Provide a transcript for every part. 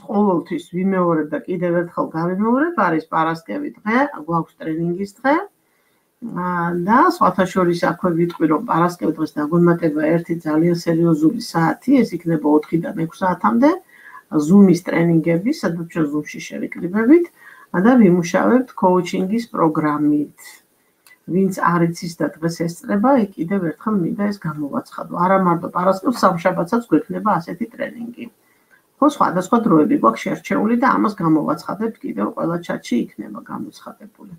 ყოველთვის ვიმეორებ და კიდევ ერთხელ გავიმეორებ, არის პარასკევი დღე, გვაქვს ტრენინგის დღე. და სხვათა შორის აქვე ვიტყვი, რომ პარასკევ დღეს დაგვემატება ერთი ძალიან სერიოზული საათი, ეს იქნება 4-დან 6 საათამდე Zoom-ის ტრენინგები, სადაც ჩვენ Zoom-ში შევიკრიბებით და ვიმუშავებთ კოუჩინგის პროგრამით. ვინც არ იცის და დღეს ესწრება, კიდევ ერთხელ მინდა ეს გამოვაცხადო. არა მარტო პარასკევს, სამშაბათსაც გვექნება ასეთი ტრენინგი. ხო, სხვადასხვა დროები გვაქვს შერჩეული და ამას გამოვაცხადებთ, კიდევ ყველა ჩატში იქნება გამოცხადებული.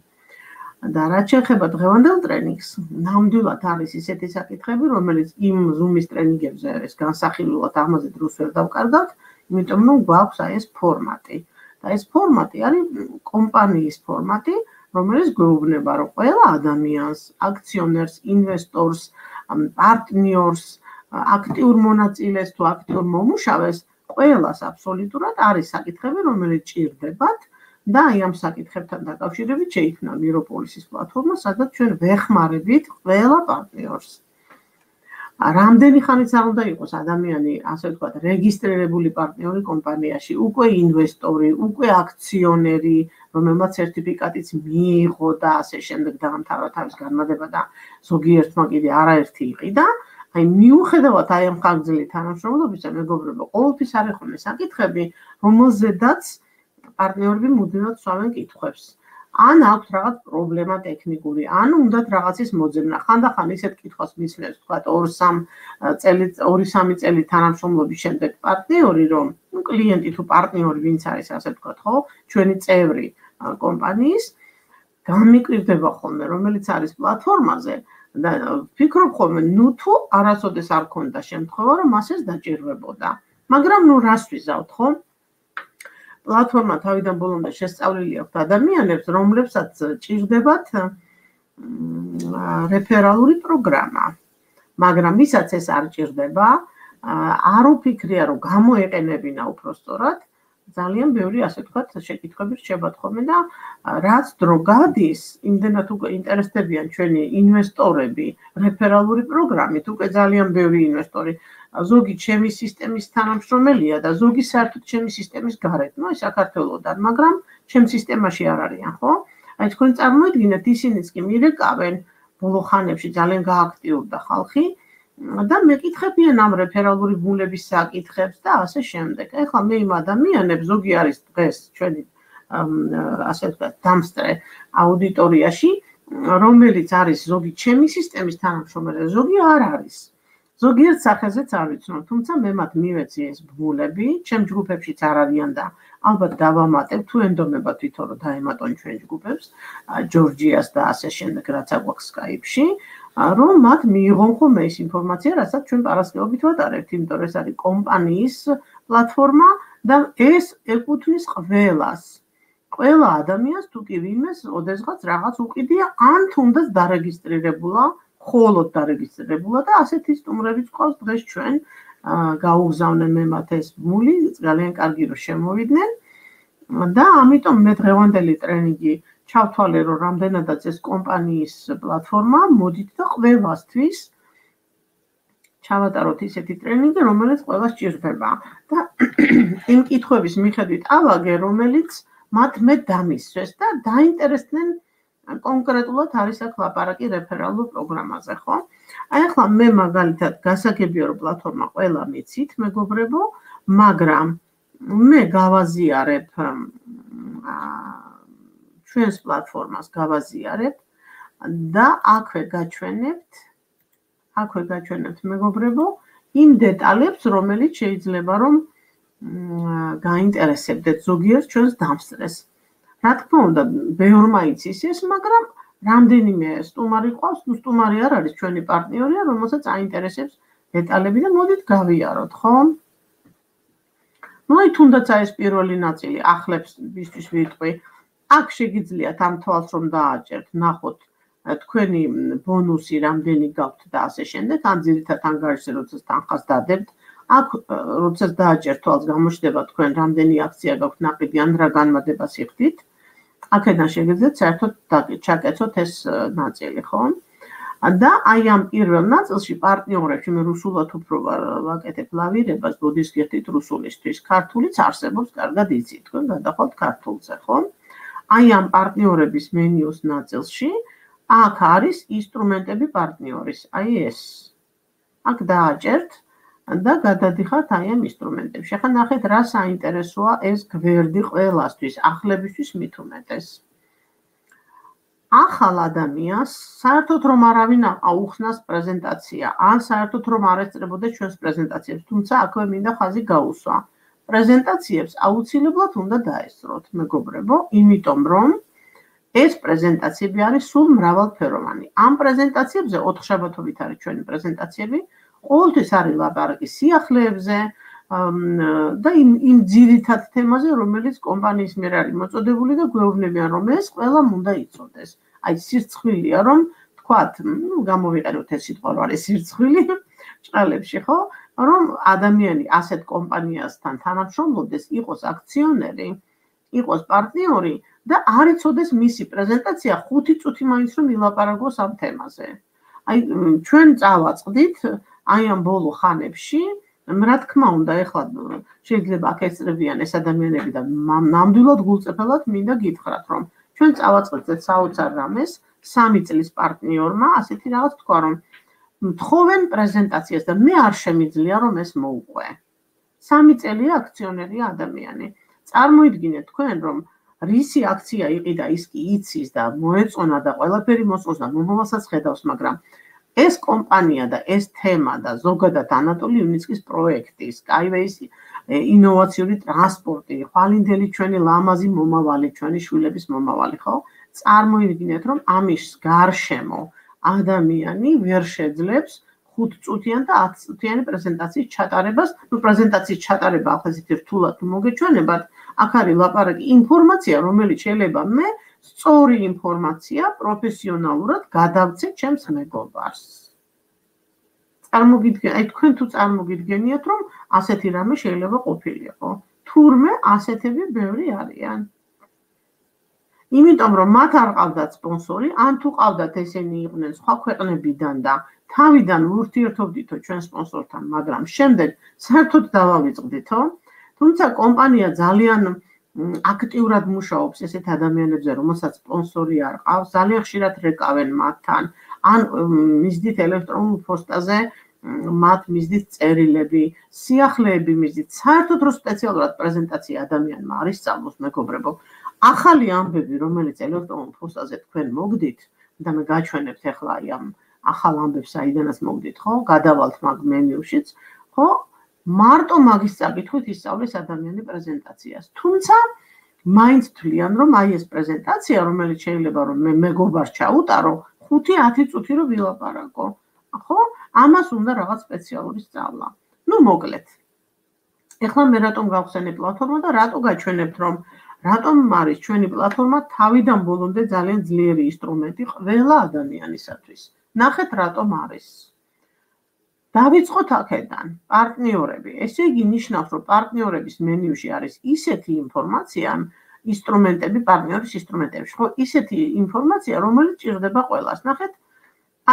და რაც შეეხება დღევანდელ ტრენინგს, ნამდვილად არის ისეთი საკითხები, რომელიც იმ Zoom-ის ტრენინგებზე არის განსახილულად, ამაზე დროს ვერ დავკარგავთ, იმიტომ რომ გვაქვს ეს ფორმატი. და ეს ფორმატი არის კომპანიის ფორმატი, რომელიც გვეუბნება, რომ ყველა ადამიანს, აქციონერს, ინვესტორს, პარტნიორს, აქტიურ მონაწილეს თუ აქტიურ მომუშავეს, ყველას აბსოლუტურად არის საკითხები, რომელიც ჭირდებათ. და აი ამ საკითხებთან დაკავშირებით შეიქმნა მიროპოლისის პლატფორმა, სადაც ჩვენ ვეხმარებით ყველა პარტნიორს. რამდენი ხანიც არ უნდა იყოს ადამიანი, ასე ვთქვათ, რეგისტრირებული პარტნიორი კომპანიაში, უკვე ინვესტორი, უკვე აქციონერი, რომელმაც სერტიფიკატიც მიიღო და ასე შემდეგ დაამთავრა თავის განმადება და ზოგიერთმა კიდე არაერთი იყიდა. აი მიუხედავად აი ამ ხანგრძლივი თანამშრომლობისა, მეგობრებო, ყოველთვის არის ხოლმე საკითხები, რომელზედაც პარტნიორები მუდმივად სვამენ კითხვებს. ან აქვს რაღაც პრობლემა ტექნიკური, ან უნდათ რაღაცის მოძებნა. ხანდახან ისეთ კითხვას მისმენს, თქვათ 2-3 წელი თანამშრომლობის შემდეგ პარტნიორი, რომ კლიენტი თუ პარტნიორი ვინც არის, ასე ვთქვათ, ხო, ჩვენი წევრი კომპანიის, გამიკვირდება ხოლმე, რომელიც არის პლატფორმაზე და ფიქრობ ხოლმე, ნუ თუ არასოდეს არ ქონდა შემთხვევა, რომ მას ეს დაჭირვებოდა. მაგრამ ნუ რას ვიზავთ, ხო? პლატფორმა თავიდან ბოლომდე შესწავლილი აქვს ადამიანებს, რომლებსაც ჭირდებათ რეფერალური პროგრამა. მაგრამ ვისაც ეს არ ჭირდება, არ უფიქრია, რომ გამოეყენებინა უпростоრად, ძალიან ბევრი, ასე ვთქვათ, შეკითხვები რჩებათ ხოლმე და რაც დრო გადის, იმდენად უკვე ინტერესდებიან ჩვენი ინვესტორები რეფერალური პროგრამით, უკვე ძალიან ბევრი ინვესტორი ზოგი ჩემი სისტემის თანამშრომელია და ზოგი საერთოდ ჩემი სისტემის გარეთ, ნუ საქართველოდან, მაგრამ ჩემ სისტემაში არ არიან, ხო? აი თქვენ წარმოიდგინეთ, ისინიც კი მირეკავენ ბოლო ხანებში ძალიან გააქტიურდა ხალხი და მეკითხებიან ამ რეფერალური ბუნების საკითხებს და ასე შემდეგ. ეხლა მე იმ ადამიანებს ზოგი არის დღეს ჩვენი ასე ვთქვათ, დამსწრე აუდიტორიაში, რომელიც არის ზოგი ჩემი სისტემის თანამშრომელი, ზოგი არ არის. ზოგიერთ სახეზეც არ ვიცნობ, თუმცა მე მათ მივეცი ეს ბმულები, ჩემ ჯგუფებშიც არ არიან და ალბათ დავამატებ, თუ ენდომება თვითონ რომ დაემატონ ჩვენ ჯგუფებს, ჯორჯიას და ასე შემდეგ, რაც აგვაქვს Skype-ში, რომ მათ მიიღონ ხოლმე ეს ინფორმაცია, რასაც ჩვენ პარასკევობით ვატარებთ, იმიტომ რომ ეს არის კომპანიის პლატფორმა და ეს ეკუთვნის ყველას. ყველა ადამიანს თუ კი ვინმეს ოდესღაც რაღაც უყიდია, ან თუნდაც დარეგისტრირებულა, ხოლოდ დარეგისტრირებულა და ასეთი სტუმრებიც ყავს დღეს ჩვენ გაუგზავნე მე მათ ეს ბმული, ძალიან კარგი რომ შემოვიდნენ და ამიტომ მე დღევანდელი ტრენინგი ჩავთვალე, რომ რამდენადაც ეს კომპანიის პლატფორმა, მოდით და ყველასთვის ჩავატაროთ ისეთი ტრენინგი, რომელიც ყველას ჭირდება და იმ კითხვების მიხედვით ავაგე, რომელიც მათ მე დამისვეს და დაინტერესდნენ კონკრეტულად არის აქ ლაპარაკი რეფერალურ პროგრამაზე, ხო? აი ახლა მე მაგალითად გასაგებია რომ პლატფორმა ყველა მიცით, მეგობრებო, მაგრამ მე გავაზიარებ ჩვენს პლატფორმას გავაზიარებ და აქვე გაჩვენებთ, მეგობრებო, იმ დეტალებს, რომელიც შეიძლება რომ გაინტერესებდეთ ზოგიერთ ჩვენს დამსწრეს. რა თქმა უნდა, ბევრმა იცის ეს, მაგრამ რამდენიმე სტუმარი ყავს, ნუ სტუმარი არ არის, ჩვენი პარტნიორია, რომელსაც აინტერესებს დეტალები და მოდით გავიაროთ, ხო? ნუ აი თუნდაც ეს პირველი ნაწილი ახლებისთვის ვიტყვი. აქ შეგიძლიათ ამ თვალს რომ დააჭერთ, ნახოთ თქვენი ბონუსი რამდენი გაქვთ და ასე შემდეგ, ან ძირითადად ანგარიშზე როცა თანხას დადებთ, აქ როცა დააჭერთ თვალს გამოჩნდება თქვენ რამდენი აქცია გაქვთ ნაყიდი ან რა განმადებას იხდით. აქედან შეგიძლიათ საერთოდ ჩაკეცოთ ეს ნაწილი, ხო? და აი ამ პირველ ნაწილში პარტნიორებში მე რუსულად უფრო ვაკეთებ ლავირებას, ბოდიშკეთით რუსულისთვის, ქართულიც არსებობს, კარგად იცით, თქვენ გადახვალთ ქართულზე, ხო? აი ამ პარტნიორების მენიუს ნაწილში აქ არის ინსტრუმენტები პარტნიორის, აი ეს. აქ დააჭერთ და გადადიხართ აი ამ ინსტრუმენტებში. ახლა ნახეთ, რა საინტერესოა ეს გვერდი ყველასთვის, ახლებისთვის მით უმეტეს. ახალ ადამიანს საერთოდ რომ არავინ აუხსნას პრეზენტაცია, ან საერთოდ რომ არ ესწრებოდეს ჩვენს პრეზენტაციებს, თუმცა აქვე მინდა ხაზი გაუსვა. პრეზენტაციებს აუცილებლად უნდა დაესწროთ, მეგობრებო, იმიტომ რომ ეს პრეზენტაციები არის სულ მრავალფეროვანი. ამ პრეზენტაციებზე 4 შაბათობით არის ჩვენი პრეზენტაციები, ყოველთვის არის ლაპარაკი სიახლეებზე და იმ ძირითად თემაზე, რომელიც კომპანიის მიერ არის მოწოდებული და გვეუბნებიან, რომ ეს ყველამ უნდა იცოდეს. აი სირცხვილია, რომ თქვათ, გამოვიყენოთ ეს სიტყვა, რომ არის სირცხვილი ჭყალებში, ხო? რომ ადამიანი ასეთ კომპანიასთან თანამშრომლობდეს, იყოს აქციონერი, იყოს პარტნიორი და არ იცოდეს მისი პრეზენტაცია 5 წუთი მაინც რომ ილაპარაკოს ამ თემაზე. აი ჩვენ წავაწყდით აი ამ ბოლო ხანებში, რა თქმა უნდა, ეხლა შეიძლება აქ ეწრებიან ეს ადამიანები და ნამდვილად გულწრფელად მინდა გითხრათ, რომ ჩვენ წავაწყდით საოცარ რამეს 3 წლის პარტნიორმა ასეთი რაღაც თქვა, რომ მთხოვენ პრეზენტაციას და მე არ შემიძლია რომ ეს მოუყვე. 3 წელია აქციონერია ადამიანი. წარმოიდგინეთ თქვენ რომ რისი აქცია იყიდა ის კი იცის და მოეწონა და ყველაფერი მოსწონს და მომავალსაც ხედავს, მაგრამ ეს კომპანია და ეს თემა და ზოგადად ანატოლი იუნიცკის პროექტი, Skyway-ის ინოვაციური ტრანსპორტი, ხვალინდელი ჩვენი ლამაზი მომავალი, ჩვენი შვილების მომავალი, ხო? წარმოიდგინეთ რომ ამის გარშემო ადამიანი ვერ შეძლებს 5 წუთიან და 10 წუთიანი პრეზენტაციის ჩატარებას, პრეზენტაციის ჩატარება ახლა ისეთი რთულად მოგეჩვენებათ, აქ არის ლაპარაკი ინფორმაცია, რომელიც შეიძლება მე სწორი ინფორმაცია პროფესიონალურად გადავცე ჩემს მეგობარს. აი თქვენ თუ წარმოგიდგენიათ, რომ ასეთი რამე შეიძლება ყოფილიყო. თურმე ასეთები ბევრი არიან. იმიტომ რომ მათ არ ყავდათ სპონსორი, ან თუ ყავდათ ესენი იყვნენ სხვა ქვეყნებიდან და თავიდან ურთიერთობდითო ჩვენ სპონსორთან, მაგრამ შემდეგ საერთოდ დავავიწყდითო, თუმცა კომპანია ძალიან აქტიურად მუშაობს ესეთ ადამიანებზე, რომელსაც სპონსორი არ ყავს, ძალიან ხშირად რეკავენ მათთან, ან მისდით ელექტრონულ პოსტაზე მათ მისდით წერილები, სიახლეები მისდით, საერთოდ რომ სპეციალურად პრეზენტაცია ადამიანმა არ ისწავლოს, მეგობრებო, ახალი ამბები, რომელიც ელექტრონულ პოსტაზე თქვენ მოგდით და მე გაჩვენებთ ახლა აი ამ ახალ ამბებს აიდანაც მოგდით, ხო? გადავალთ მაგ მენიუშიც, ხო? მარტო მაგის წაკითხვით ისწავლეს ადამიანი პრეზენტაციას. თუმცა მაინც თვლიან, რომ აი ეს პრეზენტაცია, რომელიც შეიძლება რომ მე მეგობარს ჩაუტარო, 5-10 წუთი რომ ვილაპარაკო, ხო? ამას უნდა რაღაც სპეციალური სწავლა. ნუ მოკლედ. ეხლა მე რატომ გავხსენე პლატფორმა და რატო გაჩვენებთ, რომ რატომ არის ჩვენი პლატფორმა თავიდან ბოლომდე ძალიან ძლიერი ინსტრუმენტი ყველა ადამიანისათვის. ნახეთ რატომ არის. დავიწყოთ აქედან, პარტნიორები. ესე იგი ნიშნავს, რომ პარტნიორების მენიუში არის ისეთი ინფორმაცია, ინსტრუმენტები, პარტნიორის ინსტრუმენტებში, ხო, ისეთი ინფორმაცია, რომელიც ჭირდება ყველას. ნახეთ,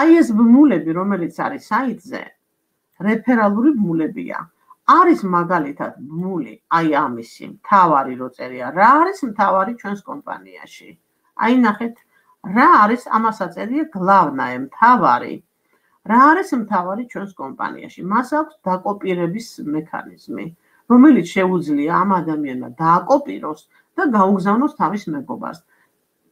აი ეს ბმულები, რომელიც არის საიტზე, რეფერალური ბმულებია. არის მაგალითად ბმული, აი ამისი, მთავარი რო წერია, რა არის მთავარი ჩვენს კომპანიაში. აი ნახეთ, რა არის ამასაც წერია გლავნაე, მთავარი. რა არის მთავარი ჩვენს კომპანიაში? მას აქვს დაკოპირების მექანიზმი, რომელიც შეუძლია ამ ადამიანმა დააკოპიროს და გაუგზავნოს თავის მეგობარს.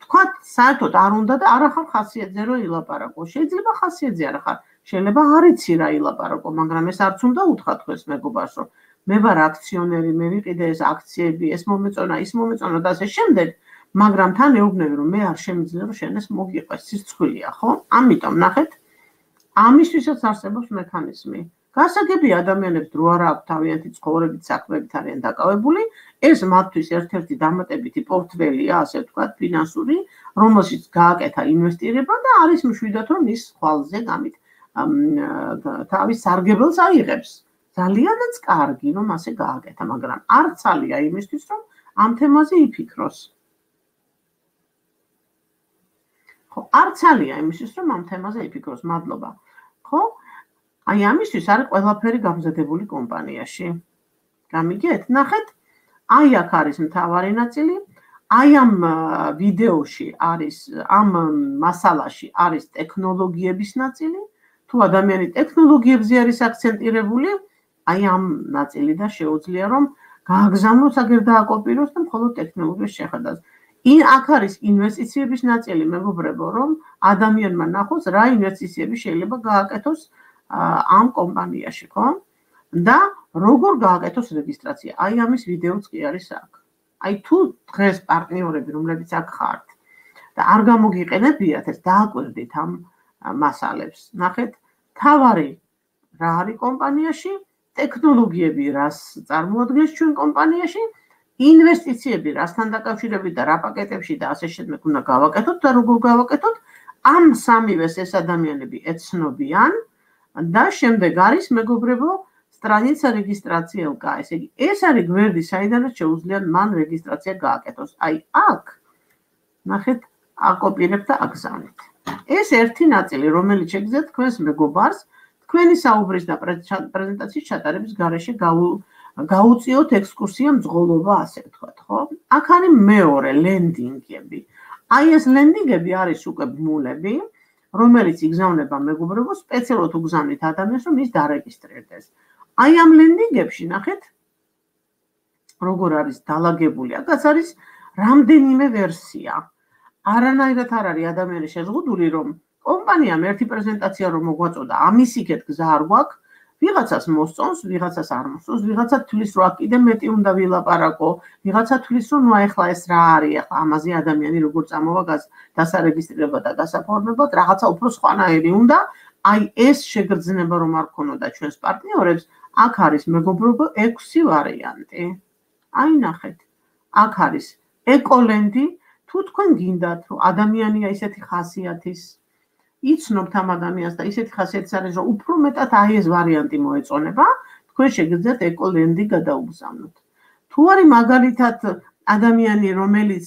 თქვათ, საერთოდ არ უნდა და არ ახარ ხასიათზე რომ ილაპარაკო. შეიძლება ხასიათზე არ ახარ, შეიძლება არ იცი რა ილაპარაკო, მაგრამ ეს არც უნდა უთხრა თქვენს მეგობარს, რომ მე ვარ აქციონერი, მე ვიყიდე ეს აქციები, ეს მომეწონა, ის მომეწონა და ასე შემდეგ, მაგრამ თან ეუბნები, რომ მე არ შემიძლია რომ შენ ეს მოგიყვეს, სირცხვილია, ხო? ამიტომ ნახეთ, ამისთვისაც არსებობს მექანიზმი. გასაგებია ადამიანებს დრო არ აქვს თავიანთი ცხოვრებით, საქმეებით არიან დაკავებული, ეს მათთვის ერთ-ერთი დამატებითი პორტფელია, ასე ვთქვათ, ფინანსური, რომელშიც გააკეთა ინვესტირება და არის მშვიდად რომ ის ხვალზე გამით თავის სარგებელს აიღებს. ძალიანაც კარგი რომ ასე გააკეთა, მაგრამ არ ცალია იმისთვის რომ ამ თემაზე იფიქროს. ხო, არც ალია იმისთვის, რომ ამ თემაზე იფიქროს, მადლობა. ხო? აი ამისთვის არის ყველაფერი გამზადებული კომპანიაში. გამიგეთ? ნახეთ, აი აქ არის მთავარი ნაწილი, აი ამ ვიდეოში არის, ამ მასალაში არის ტექნოლოგიების ნაწილი, თუ ადამიანი ტექნოლოგიებზე არის აქცენტირებული, აი ამ ნაწილიდან შეუძლია რომ გააგზავნოს აგერ დააკოპიროს და მხოლოდ ტექნოლოგიის შეხედას. აქ არის ინვესტიციების ნაწილი, მეგობრებო, რომ ადამიანმა ნახოს რა ინვესტიციები შეიძლება გააკეთოს ამ კომპანიაში, ხო? და როგორ გააკეთოს რეგისტრაცია. აი ამის ვიდეოც კი არის აქ. აი თუ დღეს პარტნიორები, რომლებიც აქ ხართ და არ გამოგიყენებიათ, ეს დააკვირდით ამ მასალებს. ნახეთ, თავარი რა არის კომპანიაში, ტექნოლოგიები რას წარმოადგენს ჩვენ კომპანიაში, ინვესტიციები რასთან დაკავშირებით და რა პაკეტებში და ასე შემდეგ უნდა გავაკეთოთ და როგორ გავაკეთოთ, ამ სამივეს ეს ადამიანები ეცნობიან და შემდეგ არის მეგობრებო სტრანიცა რეგისტრაცია ელკა, ესე იგი ეს არის გვერდი, საიდანაც შეუძლია მან რეგისტრაცია გააკეთოს. აი აქ ნახეთ, აკოპირებ და აგზავნით. ეს ერთი ნაწილი, რომელიც შეგიძლიათ თქვენს მეგობარს თქვენი საუბრის და პრეზენტაციის ჩატარების გარეშე გაუწიოთ ექსკურსია მძღოლობა, ასე ვთქვათ, ხო? აქ არის მეორე ლენდინგები. აი ეს ლენდინგები არის უკვე ბმულები, რომელიც იგზავნება მეგობრებო, სპეციალურად უგზავნით ადამიანს, რომ ის დარეგისტრირდეს. აი ამ ლენდინგებში ნახეთ, როგორ არის დალაგებული. აქაც არის რამდენიმე ვერსია. არანაირად არ არის ადამიანი შეზღუდული, რომ კომპანიამ ერთი პრეზენტაცია რომ მოგვაწოდა, ამის იქეთ გზა არ გვაქვს, ვიღაცას მოსწონს, ვიღაცას არ მოსწონს, ვიღაცა თვლის რომ აქ კიდე მეტი უნდა ვილაპარაკო, ვიღაცა თვლის რომ ნუ ახლა ეს რა არის, ახლა ამაზე ადამიანი როგორ წამოვა დასარეგისტრირება და გასაფორმებლად, რაღაცა უფრო სხვანაირი უნდა. აი ეს შეგრძნება რომ არ ქონოდა ჩვენს პარტნიორებს, აქ არის მეგობრებო 6 ვარიანტი. აი ნახეთ, აქ არის ეკოლენდი, თუ თქვენ გინდათ რომ ადამიანია ისეთი ხასიათის იცნობთ ამ ადამიანს და ისეთი ხასიათის არის, რომ უფრო მეტად აი ეს ვარიანტი მოეწონება, თქვენ შეგიძლიათ ეკოლენდი გადაუგზავნოთ. თუ არის მაგალითად ადამიანი, რომელიც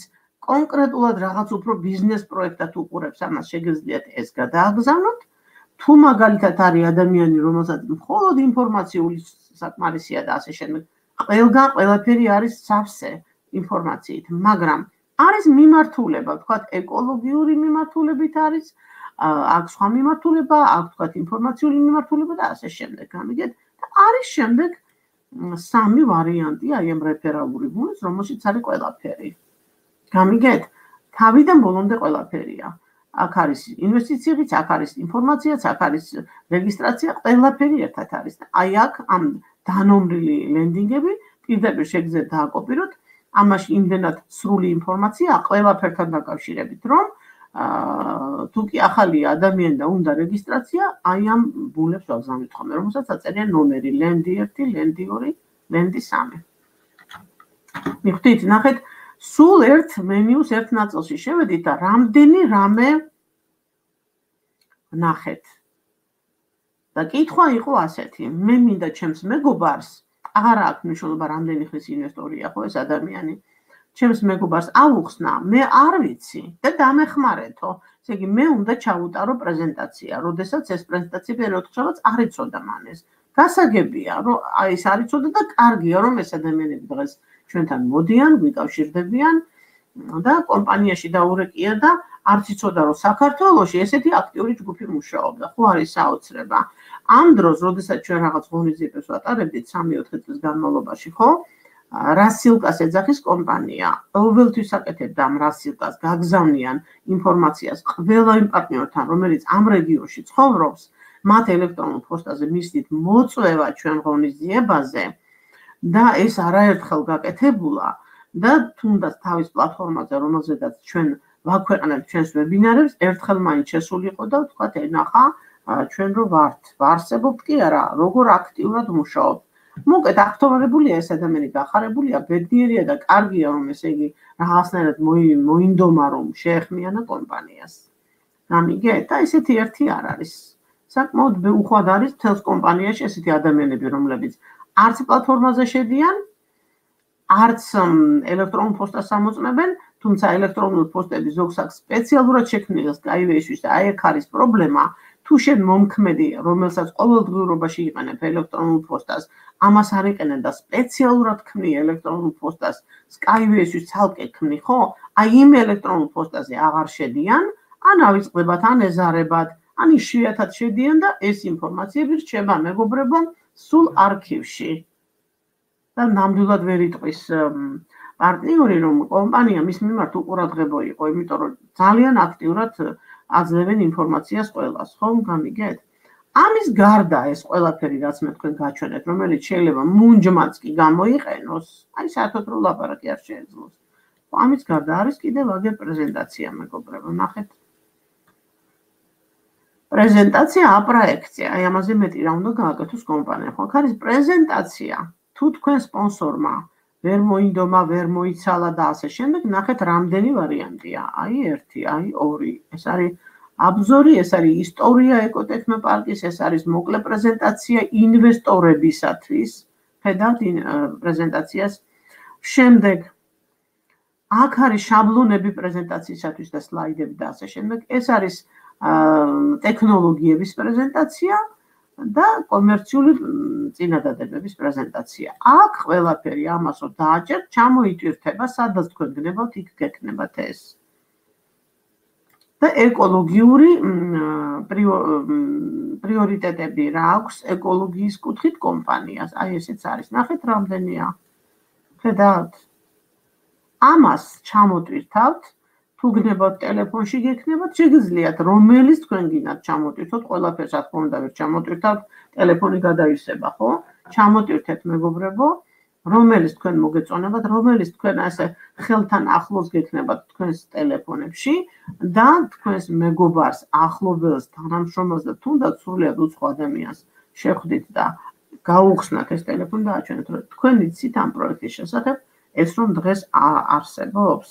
კონკრეტულად რაღაც უფრო ბიზნეს პროექტად უყურებს, ამას შეგიძლიათ ეს გადააგზავნოთ. თუ მაგალითად არის ადამიანი, რომელსაც მხოლოდ ინფორმაციული საკმარისია და ასე შემდეგ, ყველგან ყველაფერი არის სავსე ინფორმაციით, მაგრამ არის მიმართულება, ვთქვათ, ეკოლოგიური მიმართულებით არის, აქ სხვა მიმართულება, აქ ვთქვათ, ინფორმაციული მიმართულება და ასე შემდეგ. გამიგეთ? და არის შემდეგ 3 ვარიანტი აი ამ რეფერალური ბმულის, რომელშიც არის ყველაფერი. გამიგეთ? თავიდან ბოლომდე ყველაფერია. აქ არის ინვესტიციებიც, აქ არის ინფორმაციაც, აქ არის რეგისტრაცია, ყველაფერი ერთად არის. აი აქ ამ დანომრილი ლენდინგები პირდაპირ შეგიძლიათ დააკოპიროთ. ამაში იმდენად სრული ინფორმაცია, ყველაფერთან დაკავშირებით, რომ თუ კი ახალია ადამიანი და უნდა რეგისტრაცია, აი ამ ბმულებს ვაგზავნით ხოლმე, რომელსაც აწერია ნომერი ლენდი 1, ლენდი 2, ლენდი 3. მიხვდით, ნახეთ, სულ ერთ მენიუს ერთ ნაწილში შევედით და რამდენი რამე ნახეთ. და კითხვა იყო ასეთი, მე მინდა ჩემს მეგობარს, აღარ აქვს მნიშვნელობა რამდენი ხნის ინვესტორია ხო ეს ადამიანი, ჩემს მეგობარს ავუხსნა, მე არ ვიცი და დამეხმარეთო. ესე იგი, მე უნდა ჩაუტარო პრეზენტაცია, როდესაც ეს პრეზენტაცია პერიოდ ხშავაც არ იცოდა მან ეს. გასაგებია, რომ აი ეს არ იცოდა და კარგია, რომ ეს ადამიანები დღეს ჩვენთან მოდიან, გვიკავშირდებიან და კომპანიაში დაურეკია და არც იცოდა, რომ საქართველოში ესეთი აქტიური ჯგუფი მუშაობდა, ხო არის საოცრება. ამ დროს, როდესაც ჩვენ რაღაც ღონისძიებებს ვატარებდით 3-4 წლის განმავლობაში, ხო? რასილკას ეძახის კომპანია, ყოველთვის აკეთებდა ამ რასილკას, გაგზავნიან ინფორმაციას ყველა იმ პარტნიორთან, რომელიც ამ რეგიონში ცხოვრობს, მათ ელექტრონულ პოსტაზე მისდით მოწვევა ჩვენ ღონისძიებაზე და ეს არაერთხელ გაკეთებულა და თუნდაც თავის პლატფორმაზე, რომელზედაც ჩვენ ვაქვეყნებთ ჩვენს ვებინარებს, ერთხელ მაინც შესული იყო და ვთქვათ, ენახა ჩვენ რო ვარსებობთ კი არა, როგორ აქტიურად მუშაობთ. მოკეთ აქტოვარებულია ეს ადამიანი, გახარებულია, ბედნიერია და კარგია, რომ ესე იგი რაღაცნაირად მოინდომა, რომ შეეხმიანა კომპანიას. გამიგეთ? და ესეთი ერთი არ არის. საკმაოდ უხვად არის თელს კომპანიაში ესეთი ადამიანები, რომლებიც არც პლატფორმაზე შედიან, არც ელექტრონულ პოსტას ამოწმებენ, თუმცა ელექტრონული პოსტები ზოგსაკ სპეციალურად შექმნილი Skyway-ისთვის და აი აქ არის პრობლემა, თუ შენ მომქმედი, რომელსაც ყოველდღიურობაში იყენებ ელექტრონულ პოსტას, ამას არ იყენებ და სპეციალურად ქმნი ელექტრონულ პოსტას Skyway-ისთვის ცალკე ქმნი, ხო? აი იმ ელექტრონულ პოსტაზე აღარ შედიან, ან ავიწყდებათ, ან ეზარებათ, ან იშვიათად შედიან და ეს ინფორმაციები რჩება მეგობრებო სულ არქივში. და ნამდვილად ვერ იტყვის პარტნიორი, რომ კომპანია მის მიმართ უყურადღებო იყო, იმიტომ რომ ძალიან აქტიურად აძლევენ ინფორმაციას ყველას, ხო, გამიგეთ? ამის გარდა ეს ყველაფერი, რაც მე თქვენ გაჩვენეთ, რომელიც შეიძლება მუნჯმაც კი გამოიყენოს, აი საერთოდ რო ლაპარაკი არ შეეძლოს. ამის გარდა არის კიდევ აგერ პრეზენტაცია, მეგობრებო, ნახეთ. პრეზენტაცია, აპროექცია, აი ამაზე მეტი რა უნდა გააკეთოს კომპანიამ, ხო? აქ არის პრეზენტაცია. თუ თქვენ სპონსორმა ვერ მოინდომა, ვერ მოიცალა და ასე შემდეგ, ნახეთ რამდენი ვარიანტია. აი 1, აი 2. ეს არის აბზორი, ეს არის ისტორია ეკოტექნოპარკის, ეს არის მოკლე პრეზენტაცია ინვესტორებისათვის. ხედავთ პრეზენტაციას. შემდეგ აქ არის შაბლონები პრეზენტაციისათვის და სლაიდები და ასე შემდეგ. ეს არის ტექნოლოგიების პრეზენტაცია და კომერციული წინადადებების პრეზენტაცია. აქ ყველაფერი ამას რო დააჭერთ, ჩამოიტვირთება, სადაც თქვენ გნებავთ, იქ გექნებათ ეს. და ეკოლოგიური პრიორიტეტები რა აქვს ეკოლოგიის კუთხით კომპანიას. აი ესეც არის. ნახეთ რამდენია. ხედავთ? ამას ჩამოტვირთავთ, თუ გნებავთ ტელეფონში გექნებათ, შეგიძლიათ რომელის თქვენ გინდათ ჩამოტვირთოთ, ყველაფერს რა თქმა უნდა ვერ ჩამოტვირთავთ, ტელეფონი გადაივსება, ხო? ჩამოტვირთეთ მეგობრებო, რომელის თქვენ მოგეწონებათ, რომელის თქვენ ასე ხელთან ახლოს გექნებათ თქვენს ტელეფონებში და თქვენს მეგობარს, ახლობელს, თანამშრომელს და თუნდაც სრულიად უცხო ადამიანს შეხვდით და გაუხსნათ ეს ტელეფონი და აჩვენეთ, რომ თქვენ იცით ამ პროექტის შესახებ, ეს რომ დღეს არსებობს.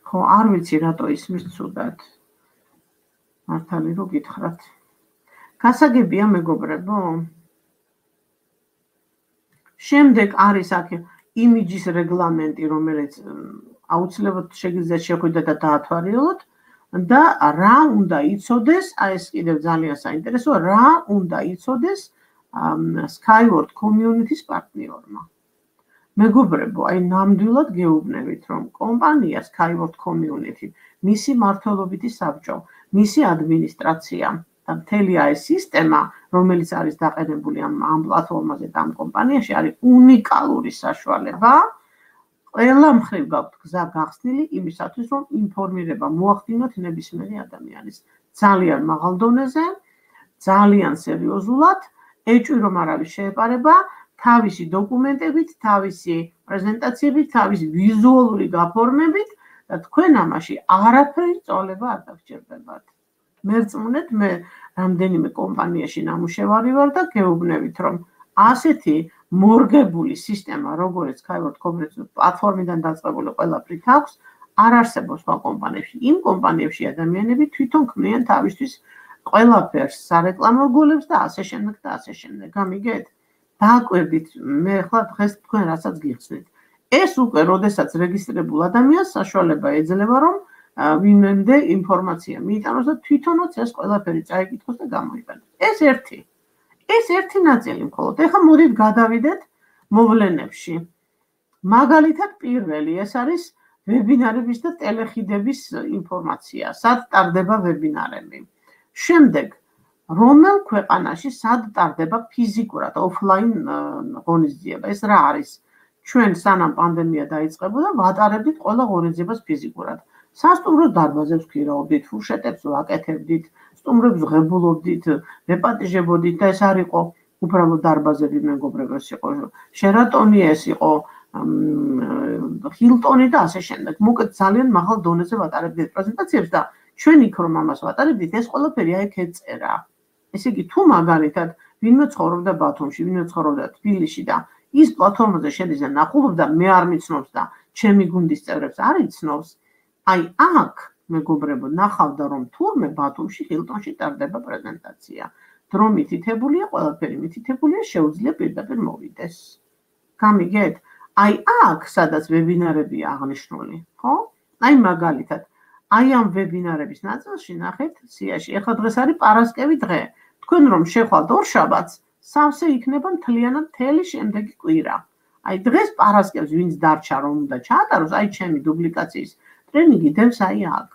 ხო, არ ვიცი რატო ისმის ცუდად. მართალი რო გითხრათ. გასაგებია მეგობრებო. შემდეგ არის აქ იმიჯის რეგლამენტი, რომელიც აუცილებლად შეგიძლიათ შეხვიდეთ და დაათვალიეროთ და რა უნდა იცოდეს, აი ეს კიდევ ძალიან საინტერესოა, რა უნდა იცოდეს Skyward Community-ს პარტნიორმა. მეგობრებო, აი ნამდვილად გეუბნებით, რომ კომპანია Skyward Community, მისი მმართველობითი საბჭო, მისი ადმინისტრაცია და მთელი აი სისტემა, რომელიც არის დაყენებული ამ პლატფორმაზე და ამ კომპანიაში, არის უნიკალური საშუალება. ყველა მხრივ გაქვთ გზა გახსნილი იმისათვის, რომ ინფორმირება მოახდინოთ ნებისმიერი ადამიანის ძალიან მაღალ დონეზე, ძალიან სერიოზულად, ეჭვი რომ არავის შეეპარება, თავისი დოკუმენტებით, თავისი პრეზენტაციებით, თავისი ვიზუალური გაფორმებით და თქვენ ამაში არაფერი წოლება არ დაგჭირდებათ. მერწმუნეთ, მე რამდენიმე კომპანიაში ნამუშევარი ვარ და გეუბნებით, რომ ასეთი მორგებული სისტემა, როგორც Skyward Community პლატფორმიდან დაწყებული ყველაფრით აქვს, არ არსებობს სხვა კომპანიებში. იმ კომპანიებში ადამიანები თვითონ ქმნიან თავისთვის ყველაფერს, სარეკლამო რგოლებს და ასე შემდეგ და ასე შემდეგ. გამიგეთ? დააკვირდით, მე ახლა დღეს თქვენ რასაც გიხსნით. ეს უკვე, როდესაც რეგისტრირებულ ადამიანს საშუალება ეძლევა, რომ ვინმემდე ინფორმაცია მიიტანოს და თვითონაც ეს ყველაფერი წაიკითხოს და გამოიყენოს. ეს ერთი ნაწილი მხოლოდ. ეხლა მოდით გადავიდეთ მოვლენებში. მაგალითად პირველი, ეს არის ვებინარების და ტელეხიდების ინფორმაცია, სად ტარდება ვებინარები. შემდეგ რომელ ქვეყანაში სად ტარდება ფიზიკურად ოფლაინ ღონისძიება. ეს რა არის? ჩვენ სანამ პანდემია დაიწყებოდა, ვატარებდით ყველა ღონისძიებას ფიზიკურად. სასტუმროს დარბაზებს ვქირავდით, ფურშეტებს ვაკეთებდით, სტუმრებს ვღებულობდით, ვეპატიჟებოდით და ეს არ იყო უბრალოდ დარბაზები, მეგობრებო, ეს იყო შერატონი, ეს იყო ჰილტონი და ასე შემდეგ. მოკლედ ძალიან მაღალ დონეზე ვატარებდით პრეზენტაციებს და ჩვენ იქ რომ ამას ვატარებდით, ეს ყველაფერი აი აქ ეწერა. ესე იგი, თუ მაგალითად ვინმე ცხოვრობდა ბათუმში, ვინმე ცხოვრობდა თბილისში და ის პლატფორმაზე შედის და ნახულობს და მე არ მიცნობს და ჩემი გუნდის წევრებს არ იცნობს, აი აქ მეგობრებო, ნახავდა რომ თურმე ბათუმში ჰილტონში ტარდება პრეზენტაცია. დრო მითითებულია, ყველაფერი მითითებულია, შეუძლია პირდაპირ მოვიდეს. გამიგეთ? აი აქ, სადაც ვებინარებია აღნიშნული, ხო? აი მაგალითად, აი ამ ვებინარების ნაწილში ნახეთ სიაში. ეხლა დღეს არის პარასკევი დღე. თქვენ რომ შეხვალთ ორშაბათს, სავსე იქნება მთლიანად მთელი შემდეგი კვირა. აი დღეს პარასკევს ვინც დარჩა რომ უნდა ჩაატაროს, აი ჩემი დუბლიკაციის ტრენინგი დევს აი აქ.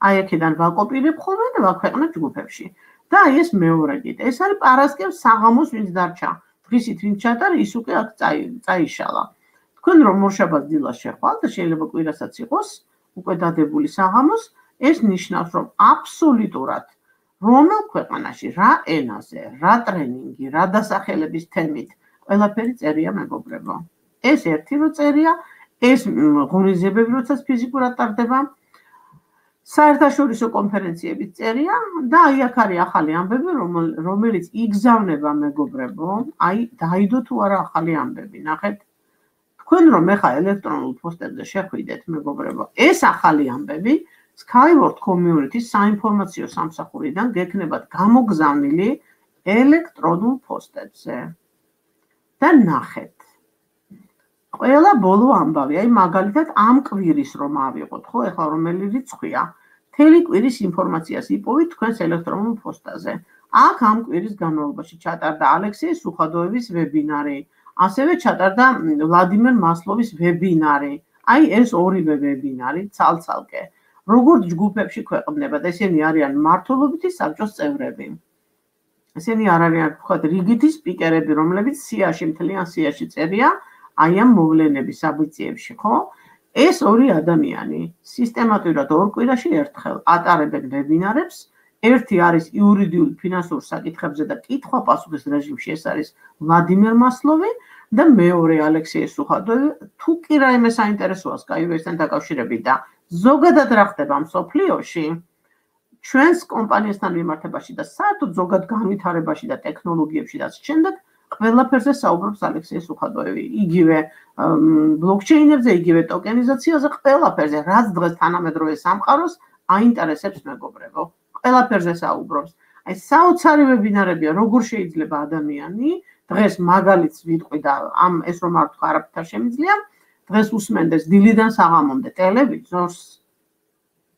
აი აქედან ვაკოპირებ ხოლმე და ვაქვეყნებ ჯგუფებში. და აი ეს მეორე კიდე. ეს არის პარასკევს საღამოს ვინც დარჩა. დღისით ვინც ჩაატარა, ის უკვე აქ წაიშალა. თქვენ რომ ორშაბათს დილას შეხვალთ და შეიძლება კვირასაც იყოს უკვე დადებული საღამოს, ეს ნიშნავს რომ აბსოლუტურად რომელ ქვეყანაში, რა ენაზე, რა ტრენინგი, რა დასახელების თემით ყველაფერი წერია მეგობრებო. ეს ერთი რო წერია, ეს ღონისძიებები როდესაც ფიზიკურად ტარდება, საერთაშორისო კონფერენციების წერია და აი აქ არის ახალი ამბები, რომელიც იგზავნება მეგობრებო, აი დაიდო თუ არა ახალი ამბები, ნახეთ. თქვენ რომ ეხა ელექტრონულ პოსტებზე შეხვიდეთ მეგობრებო, ეს ახალი ამბები Skyward Community საინფორმაციო სამსახურიდან გექნებათ გამოგზავნილი ელექტრონულ პოსტებზე. და ნახეთ. ყველა ბოლო ამბავი, აი მაგალითად ამ კვირის რომ ავიღოთ, ხო, ეხლა რომელი რიცხვია, მთელი კვირის ინფორმაციას იპოვით თქვენს ელექტრონულ პოსტაზე. აქ ამ კვირის განმავლობაში ჩატარდა ალექსეი სუხადოევის ვებინარი, ასევე ჩატარდა ვლადიმერ მასლოვის ვებინარი. აი ეს ორივე ვებინარი ცალ-ცალკე. როგორც ჯგუფებში ქვეყნდებათ, ესენი არიან მმართველობითი საბჭოს წევრები. ესენი არ არიან ვთქვათ რიგითი სპიკერები, რომლებიც სიაში მთლიან სიაში წერია აი ამ მოვლენების საბუციებში, ხო? ეს ორი ადამიანი სისტემატურად ორ კვირაში ერთხელ ატარებენ ვებინარებს. ერთი არის იურიდიულ ფინანსურ საკითხებზე და კითხვა-პასუხის რეჟიმში, ეს არის ვლადიმერ მასლოვი და მეორე ალექსეი სუხადოვი. თუ კი რაიმე საინტერესოა Skyward-თან დაკავშირებით და ზოგადად რა ხდება მსოფლიოში, ჩვენს კომპანიასთან მიმართებაში და საერთოდ ზოგად განვითარებაში და ტექნოლოგიებში და შემდეგ ყველაფერზე საუბრობს ალექსეი სუხადოევი. იგივე ბლოკჩეინებზე, იგივე ტოკენიზაციაზე, ყველაფერზე, რაც დღეს თანამედროვე სამყაროს აინტერესებს მეგობრებო. ყველაფერზე საუბრობს. აი საოცარი ვებინარებია, როგორ შეიძლება ადამიანი დღეს მაგალითს ვიტყვი და ეს რომ არ თქვა არაფერ შემიძლია, დღეს უსმენდეს დილიდან საღამომდე ტელევიზორს,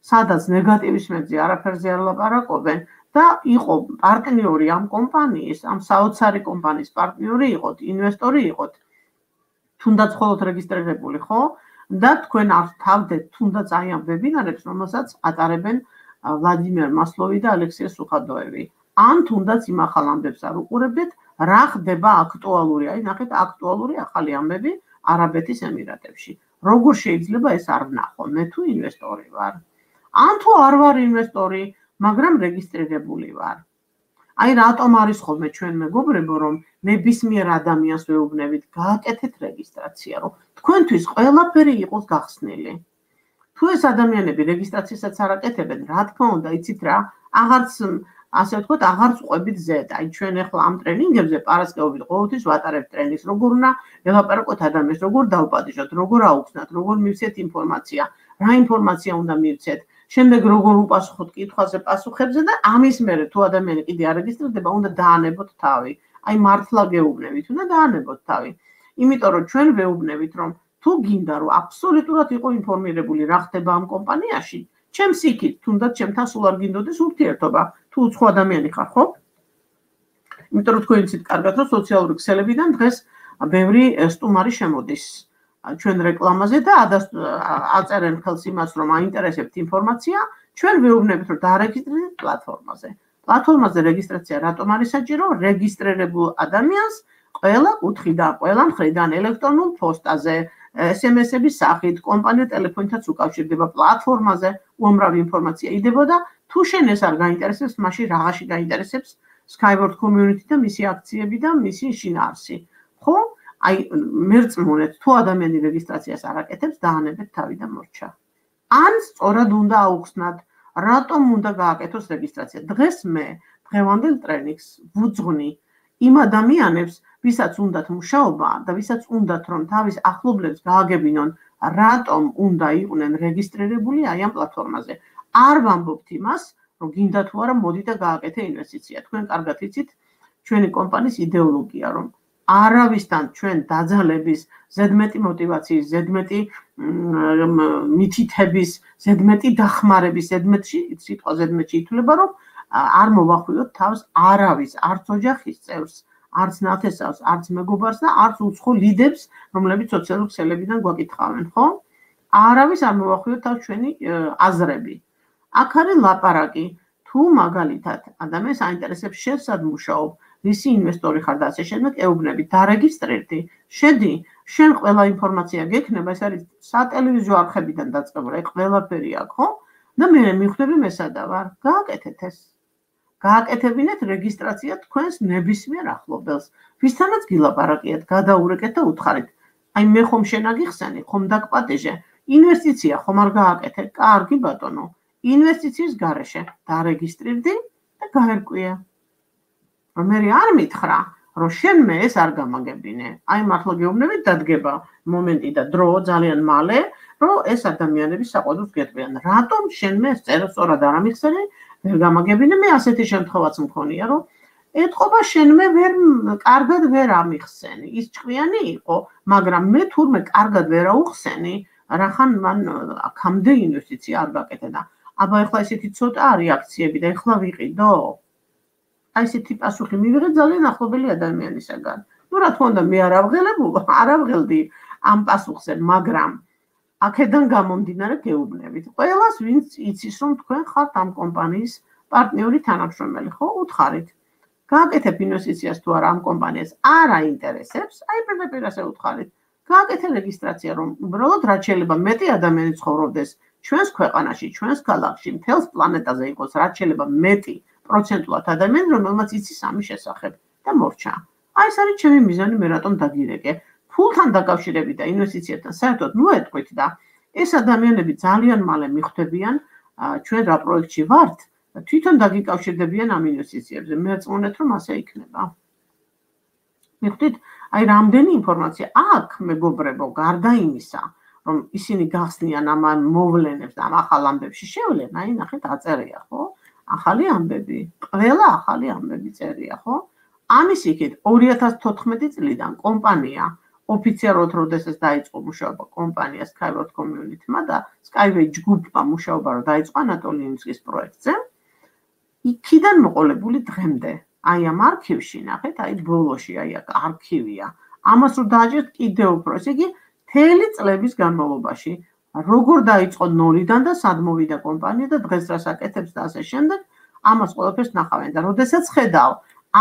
სადაც ნეგატივის მეძე არაფერზე არ ლაპარაკობენ და იყო პარტნიორი ამ კომპანიის, ამ საოცარი კომპანიის პარტნიორი იყოთ, ინვესტორი იყოთ, თუნდაც მხოლოდ რეგისტრირებული, ხო? და თქვენ არ თავდეთ თუნდაც აი ამ ვებინარებს, რომელსაც ატარებენ ვლადიმერ მასლოვი და ალექსეი სუხადოევი. ან თუნდაც იმ ახალ ამბებს არ უყურებდეთ, რა ხდება აქტუალური, აი ნახეთ აქტუალური ახალი ამბები არაბეთის ემირატებში. როგორ შეიძლება ეს არ ვნახო, მე თუ ინვესტორი ვარ. ან თუ არ ვარ ინვესტორი, მაგრამ რეგისტრირებული ვარ. აი რატომ არის ხოლმე ჩვენ მეგობრებო, რომ ნებისმიერ ადამიანს ვეუბნებით, გააკეთეთ რეგისტრაცია, რომ თქვენთვის ყველაფერი იყოს გახსნილი. თუ ეს ადამიანები რეგისტრაციასაც არ აკეთებენ, რა თქმა უნდა, იცით რა, აღარც ასე ვთქვათ, აღარც ყვებით ზედა. აი ჩვენ ახლა ამ ტრენინგებზე პარასკევობით ყოველთვის ვატარებთ ტრენინგს, როგორ უნდა ელაპარაკოთ ადამიანს, როგორ დავპატიჟოთ, როგორ აუხსნათ, როგორ მივცეთ ინფორმაცია, რა ინფორმაცია უნდა მივცეთ, შემდეგ როგორ უპასუხოთ კითხვაზე, პასუხებზე და ამის მერე თუ ადამიანი კიდე არ რეგისტრირდება, უნდა დაანებოთ თავი. აი მართლა გეუბნებით, უნდა დაანებოთ თავი. იმიტომ რომ ჩვენ ვეუბნებით, რომ თუ გინდა რომ აბსოლუტურად იყო ინფორმირებული რა ხდება ამ კომპანიაში, ჩემს იქით, თუნდაც ჩემთან სულ არ გინდოდეს ურთიერთობა, თუ უცხო ადამიანი ხარ, ხო? იმიტომ რომ თქვენ იცით კარგად, რომ სოციალური ქსელებიდან დღეს ბევრი სტუმარი შემოდის ჩვენ რეკლამაზე და აწერენ ხელს იმას, რომ აინტერესებთ ინფორმაცია, ჩვენ ვეუბნებით, რომ დაარეგისტრირდეთ პლატფორმაზე. პლატფორმაზე რეგისტრაცია რატომ არის საჭირო? რეგისტრირებულ ადამიანს ყველა კუთხიდან, ყველა მხრიდან ელექტრონულ პოსტაზე, SMS-ების სახით, კომპანია ტელეფონითაც უკავშირდება პლატფორმაზე, უამრავი ინფორმაცია იდებოდა. თუ შენ ეს არ გაინტერესებს, მაშინ რაღაცი გაინტერესებს Skyward Community და მისი აქციები და მისი შინაარსი. ხო? აი მერწმუნეთ, თუ ადამიანი რეგისტრაციას არ აკეთებს, დაანებეთ თავი და მორჩა. ან სწორად უნდა აუხსნათ, რატომ უნდა გააკეთოს რეგისტრაცია. დღეს მე დღევანდელ ტრენინგს ვუძღვნი იმ ადამიანებს, ვისაც უნდათ მუშაობა და ვისაც უნდათ რომ თავის ახლობლებს გააგებინონ, რატომ უნდა იყვნენ რეგისტრირებული აი ამ პლატფორმაზე. არ ვამბობთ იმას, რომ გინდა თუ არა მოდი და გააკეთე ინვესტიცია. თქვენ კარგად იცით ჩვენი კომპანიის იდეოლოგია, რომ არავისთან ჩვენ დაძალების, ზედმეტი მოტივაციის, ზედმეტი მითითების, ზედმეტი დახმარების, სიტყვა ზედმეტი ითვლება, რომ არ მოვახვიოთ თავს არავის, არც ოჯახის წევრს, არც ნათესავს, არც მეგობარს და არც უცხო ლიდებს, რომლებიც სოციალურ ქსელებიდან გვაკითხავენ, ხო? არავის არ მოვახვიოთ თავს ჩვენი აზრები. აქ არის ლაპარაკი, თუ მაგალითად ადამიანს აინტერესებს შენ სად მუშაობ, რისი ინვესტორი ხარ და ასე შემდეგ, ეუბნები, დარეგისტრირდი, შედი, შენ ყველა ინფორმაცია გექნება, ეს არის სატელევიზიო არხებიდან დაწყებული, ყველაფერი აქვს, ხო? და მე მივხვდები მე სადა ვარ, გააკეთეთ ეს. გააკეთებინეთ რეგისტრაცია თქვენს ნებისმიერ ახლობელს. ვისთანაც გილაპარაკიათ, გადაურეკეთ და უთხარით. აი მე ხომ შენ აგიხსენი, ხომ დაგპატეჟე, ინვესტიცია ხომ არ გააკეთე, კარგი ბატონო, ინვესტიციის გარეშე დარეგისტრირდი და გაერკვია. რომ მე არ მითხრა, რომ შენ მე ეს არ გამაგებინე. აი მართლა გეუბნებით დადგება მომენტი და დრო ძალიან მალე, რომ ეს ადამიანები საყვედურს გეტყვიან. რატომ შენ მე ეს წერას სწორად არ ამიხსენი? ვერ გამაგებინე, მე ასეთი შემთხვევაც მქონია, რომ ეთყობა შენ მე კარგად ვერ ამიხსენი. ის ჭკვიანი იყო, მაგრამ მე თურმე კარგად ვერ აუხსენი, რახან მან აქამდე ინვესტიცია არ გაკეთე და აბა ეხლა ესეთი ცოტაა რეაქციები და ეხლა ვიყიდო. აი ესეთი პასუხი მივიღე ძალიან ახლობელი ადამიანისაგან. ნუ რა თქმა უნდა, მე არ ავღელდი ამ პასუხზე, მაგრამ აქედან გამომდინარე გეუბნებით. ყველას ვინც იცის, რომ თქვენ ხართ ამ კომპანიის პარტნიორი თანამშრომელი, ხო? უთხარით. გააკეთებ ინვესტიციას თუ არა ამ კომპანიას არ აინტერესებს, აი პირდაპირ ასე უთხარით. გააკეთე რეგისტრაცია, რომ უბრალოდ რაც შეიძლება მეტი ადამიანი ცხოვრობდეს ჩვენს ქვეყანაში, ჩვენს ქალაქში, მთელს პლანეტაზე იყოს რაც შეიძლება მეტი პროცენტულად ადამიანი, რომელმაც იცის ამის შესახებ და მორჩა. აი ეს არის ჩემი მიზანი, მე რატომ დაგირეკე. ფულთან დაკავშირებით და ინვესტიციებთან საერთოდ ნუ ეტყვით და ეს ადამიანები ძალიან მალე მიხვდებიან ჩვენ რა პროექტში ვართ და თვითონ დაგიკავშირდებიან ამ ინვესტიციებზე. მე წმონეთ რომ ასე იქნება. მიხვდით, აი რამდენი ინფორმაცია აქ მეგობრებო, გარდა იმისა, რომ ისინი გახსნიან ამ მოვლენებს და ამ ახალ ამბებში შევლენ, აი ნახეთ აწერია, ხო? ახალი ამბები, ყველა ახალი ამბები წერია, ხო? ამის იქით 2014 წლიდან კომპანია ოფიციალურად როდესაც დაიწყო მუშაობა კომპანია Skyward Community-მა და Skyway ჯგუფმა მუშაობა რომ დაიწყო ანატოლი ინსკის პროექტზე, იქიდან მოყოლებული დღემდე. აი ამ არქივში ნახეთ, აი ბოლოში აი აქ არქივია. ამას რო დააჭერთ კიდევ უფრო, ესე იგი მთელი წლების განმავლობაში, როგორ დაიწყო ნოლიდან და სად მოვიდა კომპანია და დღეს რას აკეთებს და ასე შემდეგ, ამას ყველაფერს ნახავენ და როდესაც ხედავ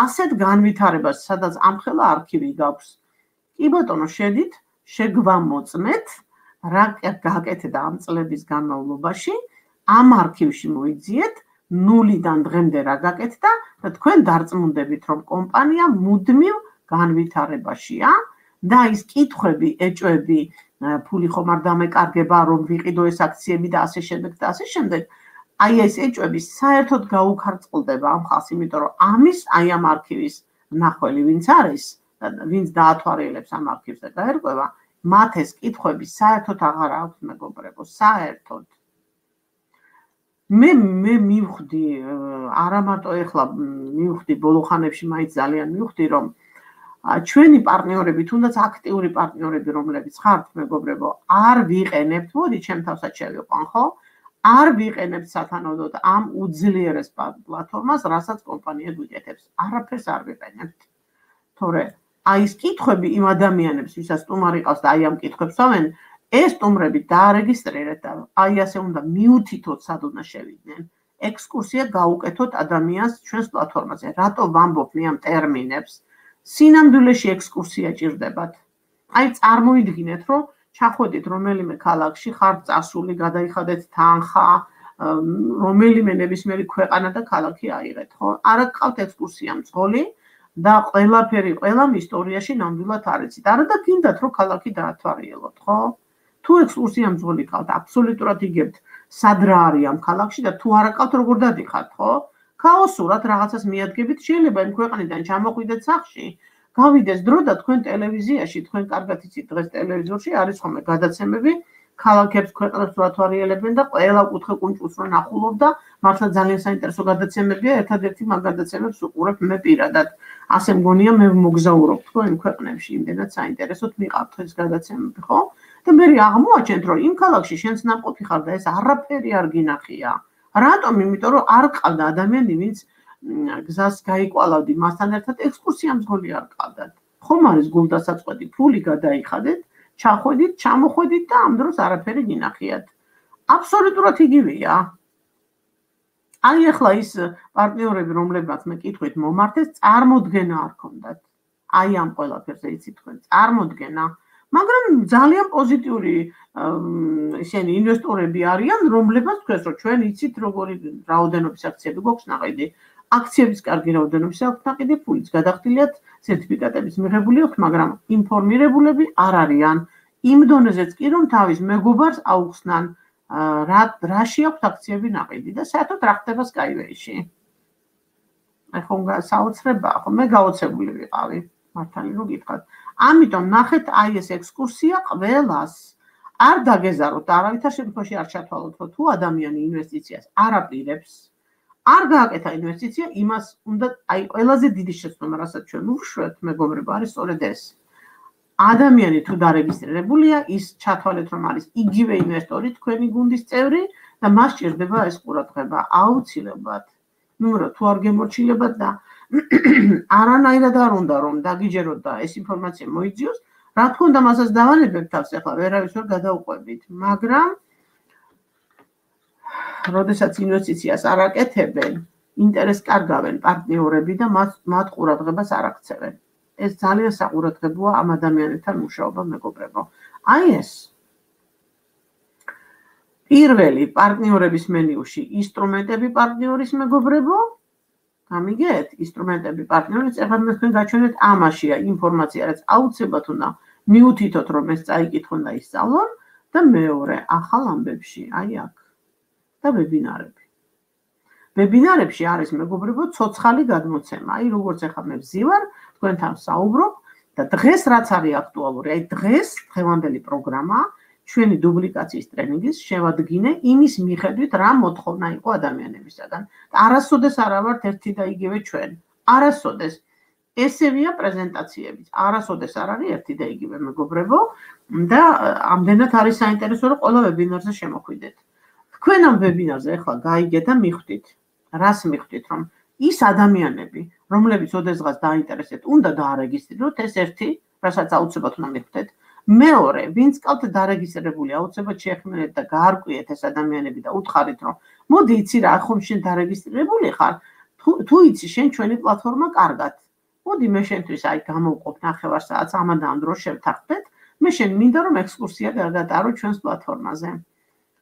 ასეთ განვითარებას, სადაც ამხელა არქივი გაქვს. კი ბატონო, შედით, შეგვამოწმეთ, რა გააკეთდა ამ წლების განმავლობაში, ამ არქივში მოიძიეთ, ნულიდან დღემდე რა გაკეთდა და თქვენ დარწმუნდებით, რომ კომპანია მუდმივ განვითარებაშია და ის კითხვები, ეჭვები, ფული ხომ არ დამეკარგება, რომ ვიყიდო ეს აქციები და ასე შემდეგ და ასე შემდეგ. აი ეს ეჭვები საერთოდ გაუქარწყლდება ამ ხალხს, იმიტომ რომ ამის აი ამ არქივის მნახველი ვინც არის, ვინც დაათვალიერებს ამ არქივს და გაერკვევა, მათ ეს კითხვები საერთოდ აღარ აქვს მეგობრებო, საერთოდ. მე მივხვდი, არა მარტო ეხლა მივხვდი, ბოლო ხანებში მაინც ძალიან მივხვდი, რომ ჩვენი პარტნიორები, თუნდაც აქტიური პარტნიორები, რომლებიც ხართ მეგობრებო, არ ვიყენებთ, მოდი ჩემ თავსაც შევიყვან, ხო? არ ვიყენებთ სათანადოდ ამ უძლიერეს პლატფორმას, რასაც კომპანია გვიკეთებს. არაფერს არ ვიყენებთ. თორე აი ეს კითხვები იმ ადამიანებს, ვისაც სტუმარი ყავს და აი ამ კითხვებს ავენ, ეს სტუმრები დაარეგისტრირეთ და აი ასე უნდა მიუთითოთ, სად უნდა შევიდნენ. ექსკურსია გაუკეთოთ ადამიანს ჩვენს პლატფორმაზე. რატო ვამბობ მე ამ ტერმინებს? სინამდვილეში ექსკურსია ჭირდებათ. აი წარმოიდგინეთ, რომ ჩახვედით რომელიმე ქალაქში, ხართ წასული, გადაიხადეთ თანხა, რომელიმე ნებისმიერი ქვეყანა და ქალაქი აიღეთ, ხო? არა გყავთ ექსკურსია მძღოლი და ყველაფერი ყველამ ისტორიაში ნამდვილად არ იცით. არა და გინდათ, რომ ქალაქი დაათვალიეროთ, ხო? თუ ექსკურსია მძღოლი გყავთ, აბსოლუტურად იგებთ, სად რა არის ამ ქალაქში და თუ არა გყავთ, როგორ დადიხართ, ხო? ქაოსურად რაღაცას მიადგებით, შეიძლება იმ ქვეყნიდან ჩამოხვიდეთ სახლში, გავიდეს დრო და თქვენ ტელევიზიაში, თქვენ კარგად იცით, დღეს ტელევიზორში არის ხოლმე გადაცემები, ქალაქებს ქვეყნებს რა თვარიელებენ და ყველა კუთხე კუნჭულს რო ნახულობ და მართლა ძალიან საინტერესო გადაცემებია, ერთადერთი მაგ გადაცემებს უყურებ მე პირადად. ასე მგონია მე მოგზაურობ თქვენ ქვეყნებში, იმდენად საინტერესოდ მიყავთ ეს გადაცემები, ხო? და მე აღმოაჩენთ, რომ იმ ქალაქში შენც ნამყოფი ხარ და ეს არაფერი არ გინახია. რატომ? იმიტომ რომ არ ყავდა ადამიანი, ვინც გზას გაიკვალავდი მასთან ერთად ექსკურსია მძღოლი არ ყავდათ. ხომ არის გულდასაწყვეტი, ფული გადაიხადეთ, ჩახვედით, ჩამოხვედით და ამ დროს არაფერი გინახიათ. აბსოლუტურად იგივეა. აი ახლა ის პარტნიორები, რომლებსაც მე კითხვით მომართეს, წარმოდგენა არ ქონდათ. აი ამ ყველაფერზე იცით თქვენ, წარმოდგენა. მაგრამ ძალიან პოზიტიური ისინი ინვესტორები არიან, რომლებსაც თქვენს რომ ჩვენ იცით როგორი რაოდენობის აქციები გვაქვს ნაყიდი. აქციების კარგი რაოდენობის აქვს ნაყიდი, ფულიც გადახდილიათ, სერტიფიკატების მიღებული აქვს, მაგრამ ინფორმირებულები არ არიან. იმ დონეზეც კი რომ თავის მეგობარს აუხსნან რაში აქვს აქციები ნაყიდი და საერთოდ რა ხდება Skyway-ში. ახლა საოცრებაა, ხო მე გაოცებული ვიყავი, მართალი რომ გითხრათ. ამიტომ ნახეთ აი ეს ექსკურსია ყველას. არ დაგეზაროთ, არავითარ შემთხვევაში არ ჩათვალოთ, რომ თუ ადამიანი ინვესტიციას არ აპირებს, არ გააკეთა ინვესტიცია, იმას უნდა აი ყველაზე დიდი შეცდომა, რასაც ჩვენ ვუშვებთ, მეგობრებო, არის სწორედ ეს. ადამიანი თუ დარეგისტრირებულია, ის ჩათვალეთ, რომ არის იგივე ინვესტორი, თქვენი გუნდის წევრი და მას სჭირდება ეს ყურადღება აუცილებლად. ნუ თუ არ გემორჩილებათ და არანაირად არ უნდა რომ დაგიჯეროთ და ეს ინფორმაცია მოიძიოს, რა თქმა უნდა მასაც დავალებებთ თავს ახლა ვერავის ვერ გადაუყვებით, მაგრამ როდესაც ინვესტიციას არ აკეთებენ, ინტერესს კარგავენ პარტნიორები და მათ ყურადღებას არ აქცევენ. ეს ძალიან საყურადღებოა ამ ადამიანებთან მუშაობა, მეგობრებო. აი ეს პირველი პარტნიორების მენიუში ინსტრუმენტები პარტნიორის მეგობრებო, გამიგეთ, ინსტრუმენტები პარტნიორის, ეხლა მე თქვენ გაჩვენეთ ამაშია ინფორმაცია, რაც აუცილებლად უნდა მიუთითოთ, რომ ეს წაიკითხონ და ისწავლონ და მეორე ახალ ამბებში, აი აქ და ვებინარები. ვებინარებში არის მეგობრებო ცოცხალი გადმოცემა. აი როგორც ახლა მე ვზივარ, თქვენთან საუბრობ და დღეს რაც არის აქტუალური, აი დღეს დღევანდელი პროგრამა ჩვენი დუბლიკაციის ტრენინგის შევადგინე იმის მიხედვით, რა მოთხოვნა იყო ადამიანებისაგან. არასოდეს არ ვართ ერთი და იგივე ჩვენ. არასოდეს. ესევია პრეზენტაციებიც. არასოდეს არ არის ერთი და იგივე მეგობრებო და ამდენად არის საინტერესო, რომ ყველა ვებინარზე შემოხვიდეთ. თქვენ ამ ვებინარზე ახლა გაიგეთ და მიხვდით. რას მიხვდით, რომ ის ადამიანები, რომლებიც ოდესღაც დაინტერესებთ, უნდა დაარეგისტრიროთ, ეს ერთი, რასაც აუცილებლად უნდა მიხვდეთ. მეორე, ვინც ყავთ დარეგისტრირებული, აუცილებლად შეეხმარეთ და გაარკვიეთ ეს ადამიანები და უთხარით, რომ მოდი იცი რა, ხომ შენ დარეგისტრირებული ხარ, თუ იცი შენ ჩვენი პლატფორმა კარგად. მოდი მე შენთვის აი გამოვყოფ ნახევარ საათს ამან და ამ დროს შევთანხმდეთ, მე შენ მინდა რომ ექსკურსია გადატარო ჩვენს პლატფორმაზე.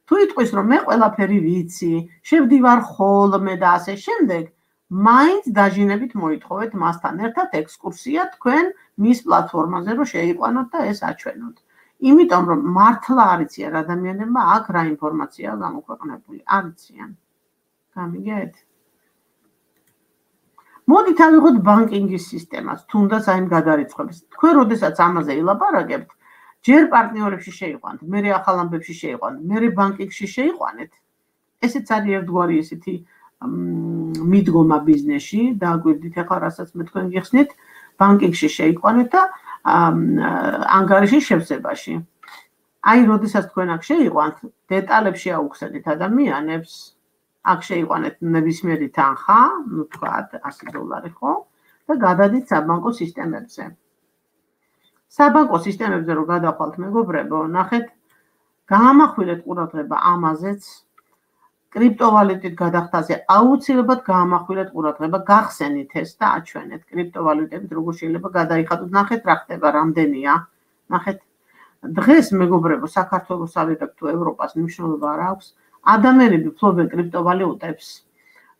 თუ იტყვის რომ მე ყველაფერი ვიცი, შევდივარ ხოლმე და ასე შემდეგ, მაინც დაჟინებით მოითხოვეთ მასთან ერთად ექსკურსია თქვენ მის პლატფორმაზე რომ შეიყვანოთ და ეს აჩვენოთ. იმიტომ რომ მართლა არიციან ადამიანებმა აქ რა ინფორმაციაა გამოქვეყნებული, არიციან. გამიგეთ? მოდით ავიღოთ ბანკინგის სისტემას, თუნდაც აი იმ გადარიცხვებს. თქვენ როდესაც ამაზე ილაპარაკებთ, ჯერ პარტნიორებში შეიყვანთ, მერე ახალ ამბებში შეიყვანთ, მერე ბანკინგში შეიყვანეთ. ესეც არის ერთგვარი ესეთი მიდგომა ბიზნესში, დააგვირდით ახლა რასაც მე თქვენ გიხსნით, ბანკინგში შეიყვანეთ და ანგარიში შევსებაში. აი, როდესაც თქვენ აქ შეიყვანთ, დეტალებში აუხსენით ადამიანებს, აქ შეიყვანეთ ნებისმიერი თანხა, ну თქვათ $100, ხო? და გადადით საბანკო სისტემებზე. საბანკო სისტემებზე რო გადახვალთ მეგობრებო, ნახეთ, გაამახვილეთ ყურადღება ამაზეც, კრიპტოვალუტით გადახდაზე აუცილებლად გაამახვილეთ ყურადღება, გახსენით ეს და აჩვენეთ კრიპტოვალუტებით როგორ შეიძლება გადაიხადოთ. ნახეთ რა ხდება, რამდენია. ნახეთ, დღეს მეგობრებო, საქართველოს ავიღებ თუ ევროპას მნიშვნელობა არ აქვს. ადამიანები ფლობენ კრიპტოვალუტებს.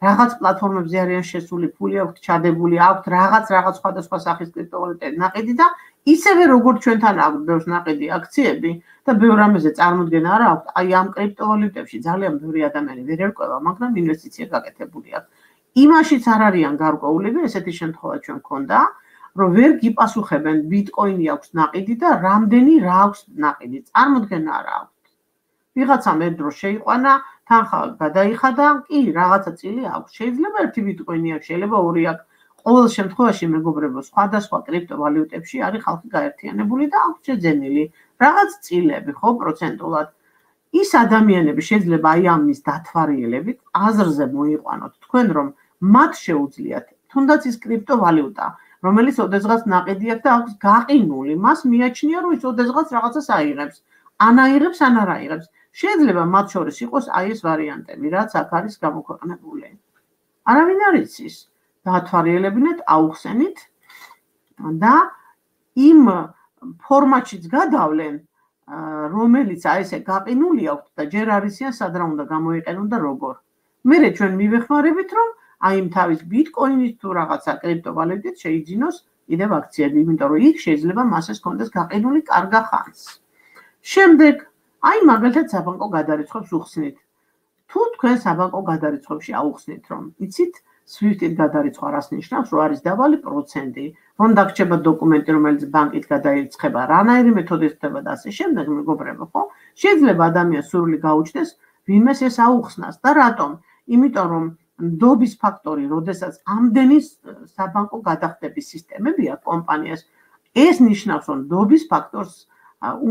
რაღაც პლატფორმებზე არიან შესული, ფული აქვთ ჩადებული, აქვთ რაღაც სხვადასხვა სახის კრიპტოვალუტები ნაყიდი და ისევე როგორც ჩვენთან აქვთ ბევრს ნაყიდი აქციები და ბევრ რამეზე წარმოდგენა არ აქვთ, აი ამ კრიპტოვალუტებში ძალიან ბევრი ადამიანი ვერ ერკვევა, მაგრამ ინვესტიცია გაკეთებული აქვს. იმაშიც არ არიან გარკვეულები, ესეთი შემთხვევა ჩვენ გქონდა, რომ ვერ გიპასუხებენ ბიტკოინი აქვს ნაყიდი და რამდენი რა აქვს ნაყიდი, წარმოდგენა არ აქვთ. ვიღაცამ ერთ დროს შეიყვანა, თანხა გადაიხადა, კი, რაღაცა წილი აქვს. შეიძლება ერთი ბიტკოინი აქვს, შეიძლება ორი აქვს. ყოველ შემთხვევაში მეგობრებო, სხვადასხვა კრიპტოვალიუტებში არის ხალხი გაერთიანებული და აქვს შეძენილი რაღაც წილები, ხო, პროცენტულად. ის ადამიანები შეიძლება აი ამის დათვალიერებით აზრზე მოიყვანოთ თქვენ, რომ მათ შეუძლიათ თუნდაც ის კრიპტოვალიუტა, რომელიც ოდესღაც ნაყიდი აქვს და აქვს გაყინული, მას მიაჩნია, რომ ის ოდესღაც რაღაცას აიღებს. ან აიღებს, ან არ აიღებს. შეიძლება მათ შორის იყოს აი ეს ვარიანტები, რაც აქ არის გამოქვეყნებული. არავინ არ იცის. დაათვალიერებინეთ, აუხსენით და იმ ფორმატშიც გადავლენ, რომელიც აი ესე გაყინული აქვს და ჯერ არ იციან სად რა უნდა გამოიყენონ და როგორ. მერე ჩვენ მივეხმარებით, რომ აი იმ თავის ბიტკოინის თუ რაღაცა კრიპტოვალუტით შეიძინოს კიდევ აქციები, იმიტომ რომ იქ შეიძლება მასეს კონდეს გაყინული კარგა ხანს. შემდეგ, აი მაგალითად საბანკო გადარიცხვებს უხსნით. თუ თქვენ საბანკო გადარიცხვებში აუხსნით, რომ იცით, SWIFT-ით გადარიცხვა რას ნიშნავს, რომ არის დაბალი პროცენტი, რომ დაგრჩება დოკუმენტი, რომელიც ბანკით გადაირიცხება, რანაირი მეთოდით ხდება და ასე შემდეგ, მეგობრებო, ხო? შეიძლება ადამიანს სურვილი გაუჩნდეს ვინმეს ეს აუხსნას და რატომ? იმიტომ რომ ნდობის ფაქტორი, როდესაც ამდენი საბანკო გადახდების სისტემები აქვს კომპანიას, ეს ნიშნავს, რომ ნდობის ფაქტორს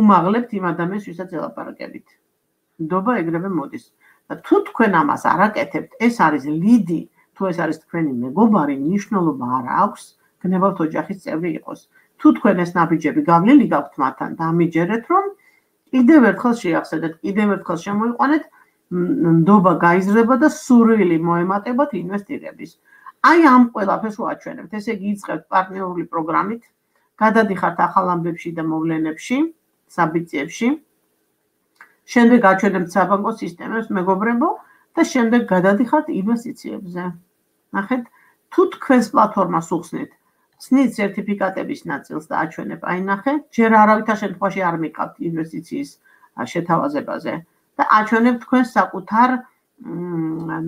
უმაღლებთ იმ ადამიანს, ვისაც ელაპარაკებით. ნდობა ეგრევე მოდის. და თუ თქვენ ამას არ აკეთებთ, ეს არის ლიდი, თუ ეს არის თქვენი მეგობარი, მნიშვნელობა არ აქვს, გნებავთ ოჯახის წევრი იყოს. თუ თქვენ ეს ნაბიჯები გავლილი გაქვთ მათთან, დამიჯერეთ, რომ კიდევ ერთხელ შეახსენეთ, კიდევ ერთხელ შემოიყვანეთ, ნდობა გაიზრდება და სურვილი მოემატებათ ინვესტირების. აი ამ ყველაფერს ვაჩვენებთ, ესე იგი იწყებთ პარტნიორული პროგრამით, გადადიხართ ახალ ამბებში და მოვლენებში, საბიძიებში. შემდეგ აჩვენებთ საბანკო სისტემებს, მეგობრებო, და შემდეგ გადადიხართ ინვესტიციებზე. ნახეთ, თუ თქვენს პლატფორმას უხსნით, ცნით სერტიფიკატების ნაწილს და აჩვენებ, აი ნახეთ, ჯერ არავითარ შემთხვევაში არ მიყავთ ინვესტიციის შეთავაზებაზე და აჩვენებ თქვენს საკუთარ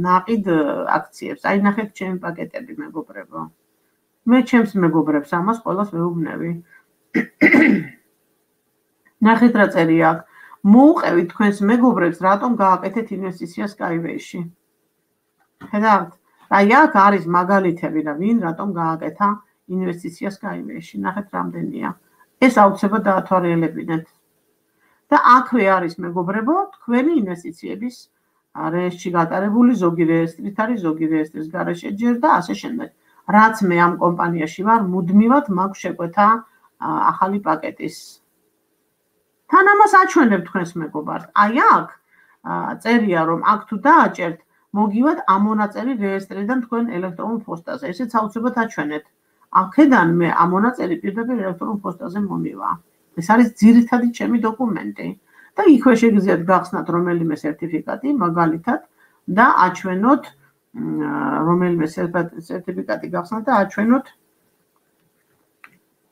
ნაყიდ აქციებს. აი ნახეთ ჩემი პაკეტები, მეგობრებო. მე ჩემს მეგობრებს ამას ყველას ვეუბნები. ნახეთ რა წერია აქ. მოუყევით თქვენს მეგობრებს, რატომ გააკეთეთ ინვესტიცია Skyway-ში. ხედავთ? აი აქ არის მაგალითები და ვინ რატომ გააკეთა ინვესტიცია Skyway-ში. ნახეთ რამდენია. ეს აუცილებლად დაათვალიერებინეთ. და აქვე არის მეგობრებო, თქვენი ინვესტიციების რეესტრში გატარებული, ზოგი რეესტრით არის, ზოგი რეესტრის გარეშე ჯერ და ასე შემდეგ. რაც მე ამ კომპანიაში ვარ, მუდმივად მაქვს შეკვეთა ახალი პაკეტის. თან ამას აჩვენებ თქვენს მეგობარს. აი აქ წერია, რომ აქ თუ დააჭერთ, მოგივათ ამონაწერი რეესტრიდან თქვენ ელექტრონულ პოსტაზე. ესეც აუცილებლად აჩვენეთ. აქედან მე ამონაწერი პირდაპირ ელექტრონულ პოსტაზე მომივა. ეს არის ძირითადი ჩემი დოკუმენტი. და იქვე შეგიძლიათ გახსნათ რომელიმე სერტიფიკატი, მაგალითად, და აჩვენოთ რომელიმე სერტიფიკატი გახსნათ და აჩვენოთ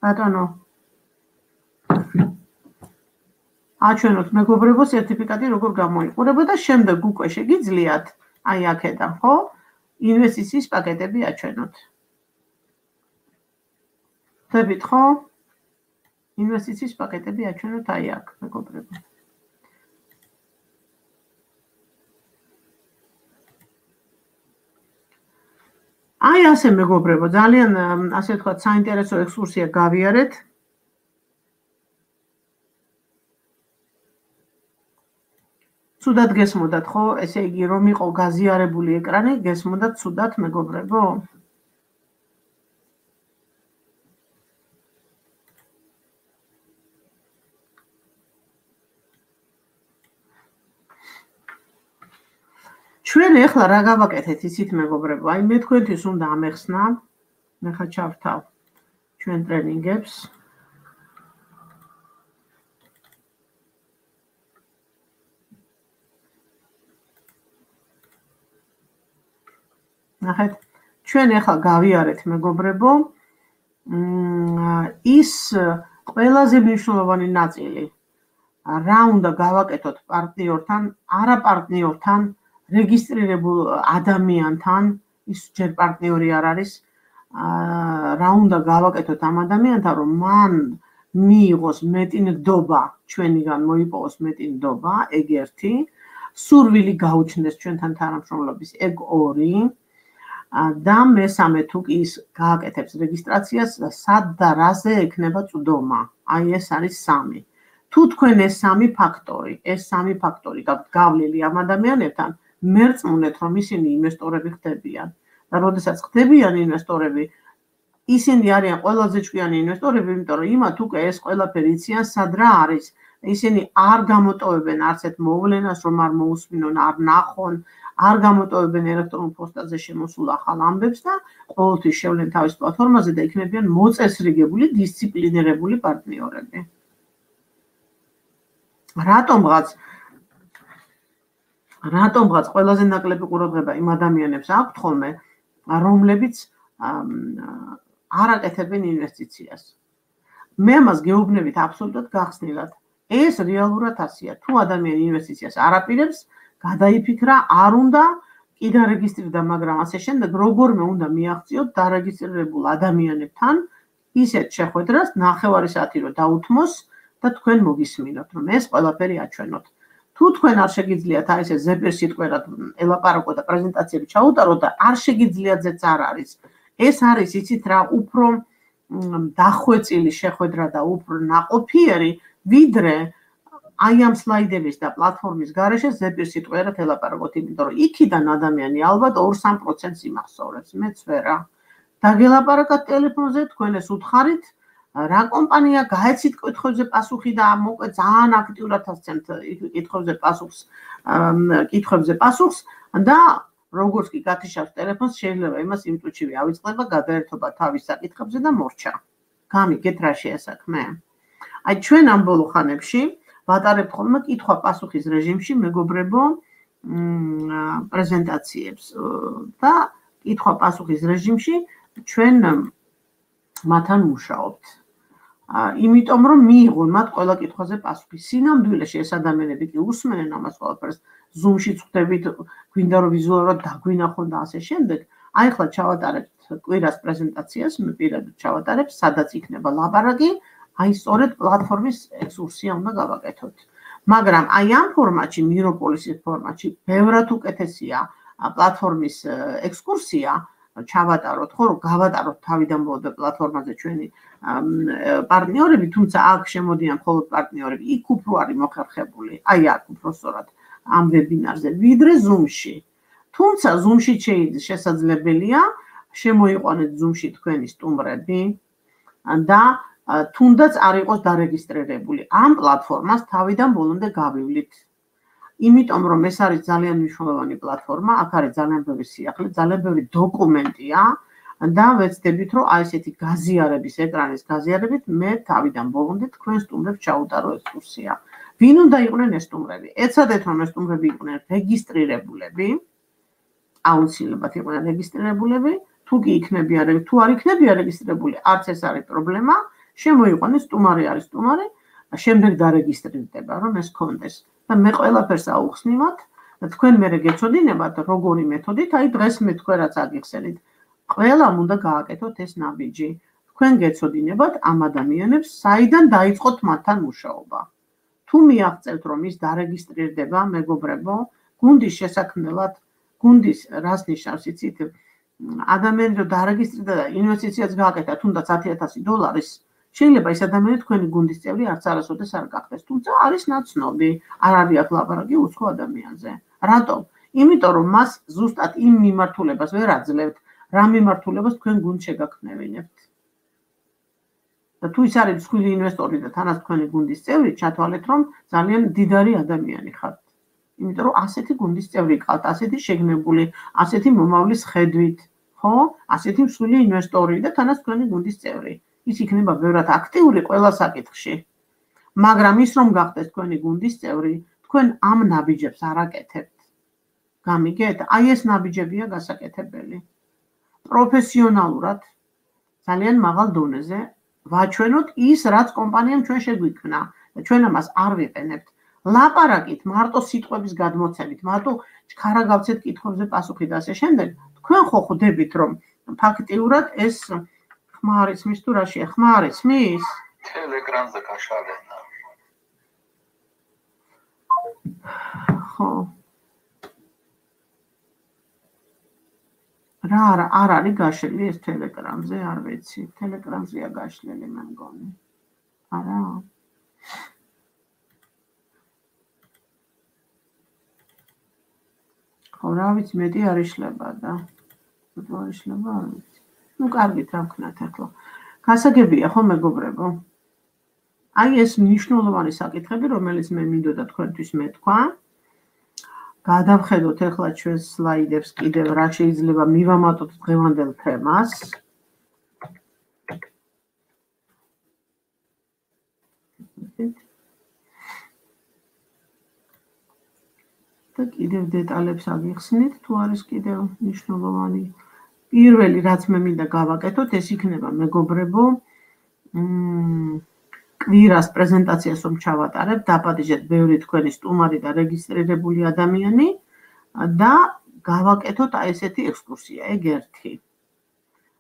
ბატონო აჩვენოთ მეგობრებო სერტიფიკატი როგორ გამოიყურება და შემდეგ უკვე შეგიძლიათ აი აქედან ხო ინვესტიციის პაკეტები აჩვენოთ. ხდებით ხო? ინვესტიციის პაკეტები აჩვენოთ აი აქ მეგობრებო. აი ასე მეგობრებო, ძალიან ასე ვთქვათ, საინტერესო ექსკურსია გავიარეთ. ცუდად გესმოდათ ხო? ესე იგი რომ იყო გაზიარებული ეკრანი, გესმოდათ ცუდად მეგობრებო? ჩვენ ეხლა რა გავაკეთეთ იცით მეგობრებო? აი მე თქვენთვის უნდა ამეხსნა, მე ხა ჩავთავ ჩვენ ტრენინგებს. ნახეთ, ჩვენ ეხლა გავიარეთ მეგობრებო, ის ყველაზე მნიშვნელოვანი ნაწილი, რა უნდა გავაკეთოთ პარტნიორთან, არაპარტნიორთან, რეგისტრირებულ ადამიანთან, ის ჯერ პარტნიორი არ არის, რა უნდა გავაკეთოთ ამ ადამიანთან, რომ მან მიიღოს მეტი ნდობა, ჩვენიგან მოიპოვოს მეტი ნდობა, ეგ ერთი, სურვილი გაუჩნდეს ჩვენთან თანამშრომლობის, ეგ ორი, და მესამე თუ კი ის გააკეთებს რეგისტრაციას, სად და რაზე ექნება წვდომა. აი ეს არის სამი. თუ თქვენ ეს სამი ფაქტორი გავლილი ამ ადამიანებთან, მერწმუნეთ, რომ ისინი ინვესტორები ხდებიან. და როდესაც ხდებიან ინვესტორები, ისინი არიან ყველაზე ჭკვიანი ინვესტორები, იმიტომ რომ იმათ უკვე ეს ყველაფერი იციან, სად რა არის. ისინი არ გამოტოვებენ არც ერთ მოვლენას, რომ არ მოусმინონ, არ ნახონ, არ გამოტოვებენ ელექტრონულ პოსტაზე შემოსულ ახალ ამბებს და ყოველთვის შევლენ თავის პლატფორმაზე და იქნებიან მოწესრიგებული, დისციპლინირებული პარტნიორები. რატომღაც ყველაზე ნაკლები ყურადღება იმ ადამიანებს აქვთ ხოლმე, რომლებიც არ აკეთებენ ინვესტიციას. მე ამას გეუბნებით აბსოლუტურად გახსნილად. ეს რეალურად ასია. თუ ადამიანი ინვესტიციას არ აპირებს, გადაიფიქრა, არ უნდა კი დარეგისტრირდა, მაგრამ ასე შემდეგ როგორმე უნდა მიაღწიოთ დარეგისტრირებულ ადამიანებთან ისეთ შეხვედრას, ნახევარი საათი რომ დაუთმოს და თქვენ მოგისმინოთ, რომ ეს ყველაფერი აჩვენოთ. თუ თქვენ არ შეგიძლიათ აი ესე ზეპირ სიტყვერად ელაპარაკო და პრეზენტაციები ჩაუტაროთ და არ შეგიძლიათ ზეც არ არის. ეს არის იცით რა, უფრო დახვეწილი შეხვედრა და უფრო ნაყოფიერი, ვიდრე აი ამ სლაიდების და პლატფორმის გარეშე ზეპირ სიტყვერად ელაპარაკოთ, იმიტომ რომ იქიდან ადამიანი ალბათ 2-3% იმახსოვრებს, მეც ვერა. დაგელაპარაკოთ ტელეფონზე, თქვენ ეს უთხარით, რა კომპანია, გაეცით კითხვებზე პასუხი და მოკლედ ძალიან აქტიურად ასცემთ კითხვებზე პასუხს და როგორც კი გათიშავს ტელეფონს, შეიძლება იმას იმ წუთშივე ავიწყდება გადაერთობა თავის საკითხებზე და მორჩა. გამიგეთ რა შეასაქმე? აი ჩვენ ამ ბოლო ხანებში ვატარებთ ხოლმე კითხვა-პასუხის რეჟიმში მეგობრებო პრეზენტაციებს და კითხვა-პასუხის რეჟიმში ჩვენ მათთან მუშაობთ. იმიტომ რომ მიიღონ მათ ყველა კითხვაზე პასუხი. სინამდვილეში ეს ადამიანები კი უსმენენ ამას ყველაფერს, Zoom-ში ხვდებით, გვინდა რომ ვიზუალურად დაგვინახონ და ასე შემდეგ. აი ახლა ჩავატარებთ კვირას პრეზენტაციას, მე პირადად ჩავატარებ, სადაც იქნება ლაპარაკი, აი სწორედ პლატფორმის ექსკურსია უნდა გავაკეთოთ. მაგრამ აი ამ ფორმატში, მიროპოლისის ფორმატში, ბევრად უკეთესია პლატფორმის ექსკურსია, ჩავატაროთ, ხო, რომ გავატაროთ თავიდან ბოლომდე პლატფორმაზე ჩვენი პარტნიორები, თუმცა აქ შემოდიან მხოლოდ პარტნიორები, იქ უფრო არის მოხერხებული, აი აქ უფრო სწორად ამ ვებინარზე, ვიდრე Zoom-ში. თუმცა Zoom-ში შესაძლებელია შემოიყვანეთ Zoom-ში თქვენი სტუმრები და თუნდაც არ იყოს დარეგისტრირებული. ამ პლატფორმას თავიდან ბოლომდე გავივლით. იმიტომ რომ ეს არის ძალიან მნიშვნელოვანი პლატფორმა, აქ არის ძალიან ბევრი სიახლე, ძალიან ბევრი დოკუმენტია და ვეცდებით რომ აი ესეთი გაზიარების, ეკრანის გაზიარებით მე თავიდან ბოლომდე თქვენ სტუმრებს ჩაუტარო ექსკურსია. ვინ უნდა იყვნენ ეს სტუმრები? ეცადეთ რომ ეს სტუმრები იყვნენ რეგისტრირებულები, აუცილებლად იყვნენ რეგისტრირებულები, თუ კი იქნებიან, თუ არ იქნებიან რეგისტრირებული, არც ეს არის პრობლემა, შემოიყვანეს სტუმარი არის სტუმარი, შემდეგ დარეგისტრირდება, რომ ეს კონდეს. და მე ყველაფერს აუხსნივად და თქვენ მერე გეცოდინებათ როგორი მეთოდით, აი დღეს მე თქვენ რაც აგიხსენით. ყველამ უნდა გააკეთოთ ეს ნაბიჯი. თქვენ გეცოდინებათ ამ ადამიანებს, საიდან დაიწყოთ მათთან მუშაობა. თუ მიაღწევთ რომ ის დარეგისტრირდება, მეგობრებო, გუნდის შესაქმნელად, გუნდის რას ნიშნავს იცით? ადამიანი რომ დარეგისტრირდა და ინვესტიციაც გააკეთა, თუნდაც $10,000, შეიძლება ეს ადამიანი თქვენი გუნდის წევრი არც არასოდეს არ გახდეს, თუმცა არის ნაცნობი, არ არის აქ ლაპარაკი უცხო ადამიანზე. რატომ? იმიტომ რომ მას ზუსტად იმ მიმართულებას ვერ აძლევთ, რა მიმართულებას თქვენ გუნდს შეგაქმნევინებთ. და თუ ის არის მსხვილი ინვესტორი და თანაც თქვენი გუნდის წევრი, ჩათვალეთ რომ ძალიან დიდარი ადამიანი ხართ. იმიტომ რომ ასეთი გუნდის წევრი ყავთ, ასეთი შეგნებული, ასეთი მომავლის ხედვით, ხო? ასეთი მსხვილი ინვესტორი და თანაც თქვენი გუნდის წევრი. ის იქნება ბევრად აქტიური ყველა საკითხში. მაგრამ ის რომ გახდეს თქვენი გუნდის წევრი, თქვენ ამ ნაბიჯებს არ აკეთებთ. გამიგეთ? აი ეს ნაბიჯებია გასაკეთებელი. პროფესიონალურად, ძალიან მაღალ დონეზე ვაჩვენოთ ის, რაც კომპანიამ ჩვენ შეგვიქმნა და ჩვენ ამას არ ვიყენებთ. ლაპარაკით, მარტო სიტყვების გადმოცემით, მარტო ჩქარა გავცეთ კითხვებზე პასუხი და ასე შემდეგ, თქვენ ხო ხვდებით, რომ ფაქტიურად ეს ხმა არ იცმის თუ რაშია? ხმა არ იცმის? Telegram-ზე გაშალენა. ხო. რა არ არის გაშლილი ეს Telegram-ზე, არ ვიცი. Telegram-ზეა გაშლილი მე მგონი. არა. ხო, რა ვიცი, მეტი არ იშლება და არ იშლება, არ ვიცი. ნუ კარგით რა ვქნათ ახლა. გასაგებია ხო მეგობრებო? აი ეს მნიშვნელოვანი საკითხები, რომელიც მე მინდოდა თქვენთვის მეთქვა. გადავხედოთ ახლა ჩვენ სლაიდებს კიდევ რა შეიძლება მივამატოთ დღევანდელ თემას. და კიდევ დეტალებს აგიხსნით, თუ არის კიდევ მნიშვნელოვანი. პირველი რაც მე მინდა გავაკეთოთ, ეს იქნება მეგობრებო, კვირას პრეზენტაციას რომ ჩავატარებ, დაპატიჟეთ ბევრი თქვენი სტუმარი და რეგისტრირებული ადამიანი და გავაკეთოთ აი ესეთი ექსკურსია, ეგ ერთი.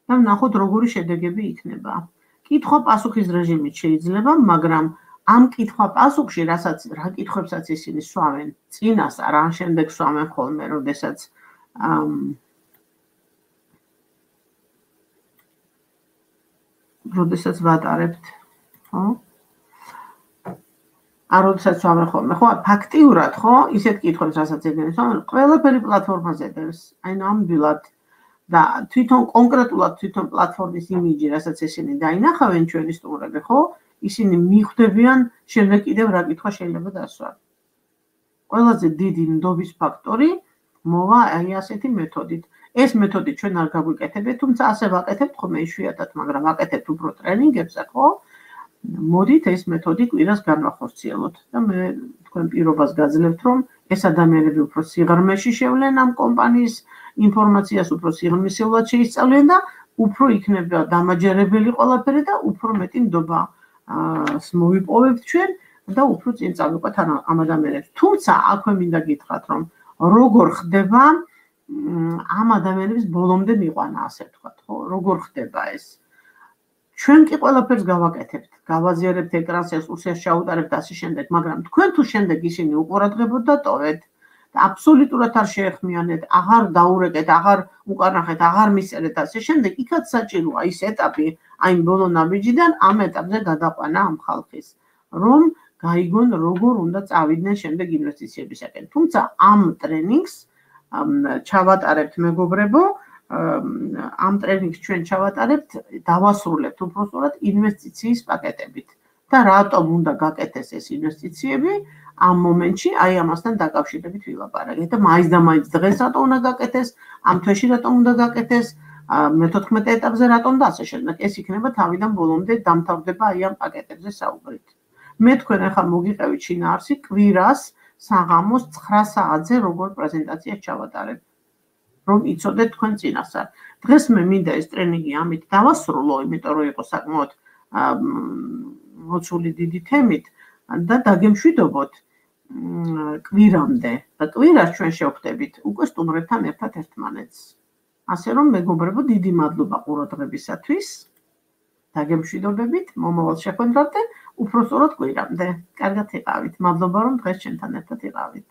და ვნახოთ როგორი შედეგები იქნება. კითხვა-პასუხის რეჟიმით შეიძლება, მაგრამ ამ კითხვა-პასუხში, რა კითხვებსაც ისინი სვამენ, წინას არა, შემდეგ სვამენ ხოლმე, როდესაც ვატარებთ, ხო? როდესაც სვამენ ხოლმე, ხო? ფაქტიურად, ხო? ისეთ კითხვებს, რასაც ეგენ სვამენ, ყველაფერი პლატფორმაზე დევს, აი ნამდვილად და თვითონ კონკრეტულად თვითონ პლატფორმის იმიჯი, რასაც ისინი დაინახავენ ჩვენი სტუმრები, ხო? ისინი მიხვდებიან შემდეგ კიდევ რა კითხვა შეიძლება დასვან. ყველაზე დიდი ნდობის ფაქტორი მოვა აი ასეთი მეთოდით. ეს მეთოდი ჩვენ არ გაგვიკეთებთ, თუმცა ასე ვაკეთებთ ხოლმე იშვიათად, მაგრამ ვაკეთებთ უფრო ტრენინგებზე, ხო? მოდით ეს მეთოდი კვირას განვახორციელოთ და მე თქვენ პირობას გაძლევთ, რომ ეს ადამიანები უფრო სიღრმეში შევლენ ამ კომპანიის ინფორმაციას, უფრო სიღრმისეულად შეისწავლენ და უფრო იქნება დამაჯერებელი ყველაფერი და უფრო მეტი ნდობა მოვიპოვებთ ჩვენ და უფრო წინ წავიყვეთ ამ ადამიანებს. თუმცა აქვე მინდა გითხრათ, რომ როგორ ხდება ამ ადამიანების ბოლომდე მიყვანა, ასე ვთქვათ, ხო? როგორ ხდება ეს? ჩვენ კი ყველაფერს გავაკეთებთ, გავაზიარებთ ეკრანს, ექსკურსიას ჩაუტარებთ ასე შემდეგ, მაგრამ თქვენ თუ შემდეგ ისინი უყურადღებოთ და ტოვეთ და აბსოლუტურად არ შეეხმიანეთ, აღარ დაურეკეთ, აღარ უკარნახეთ, აღარ მისწერეთ ასე შემდეგ, იქაც საჭიროა ის ეტაპი, აი ბოლო ნაბიჯიდან ამ ეტაპზე გადაყვანა ამ ხალხის, რომ გაიგონ როგორ უნდა წავიდნენ შემდეგ ინვესტიციებისაკენ. თუმცა ამ ტრენინგს ჩავატარებთ მეგობრებო, ამ ტრენინგს ჩვენ ჩავატარებთ, დავასრულებთ უბრალოდ ინვესტიციის პაკეტებით. და რატომ უნდა გაკეთდეს ეს ინვესტიციები? ამ მომენტში აი ამასთან დაკავშირებით ვილაპარაკეთ და მაინც და მაინც დღეს რატომ უნდა გაკეთდეს, ამ თვეში რატომ უნდა გაკეთდეს, მე-14 ეტაპზე რატომ და ასე შემდეგ. ეს იქნება თავიდან ბოლომდე დამთავრდება აი ამ პაკეტებზე საუბრით. მე თქვენ ახლა მოგიყევით შინაარსი კვირას საღამოს 9 საათზე როგორ პრეზენტაციას ჩავატარებ, რომ იცოდეთ თქვენ წინასწარ. დღეს მე მინდა ეს ტრენინგი ამით დავასრულო, იმიტომ რომ იყო საკმაოდ მოცული დიდი თემით და დაგემშვიდობოთ კვირამდე. და კვირას ჩვენ შევხვდებით უკვე სტუმრებთან ერთად ერთმანეთს. ასე რომ მეგობრებო, დიდი მადლობა ყურადღებისათვის. დაგემშვიდობებით, მომავალ შეხვედრამდე, უფრო სწორად კვირამდე. კარგად იყავით. მადლობა რომ დღეს ჩვენთან ერთად იყავით.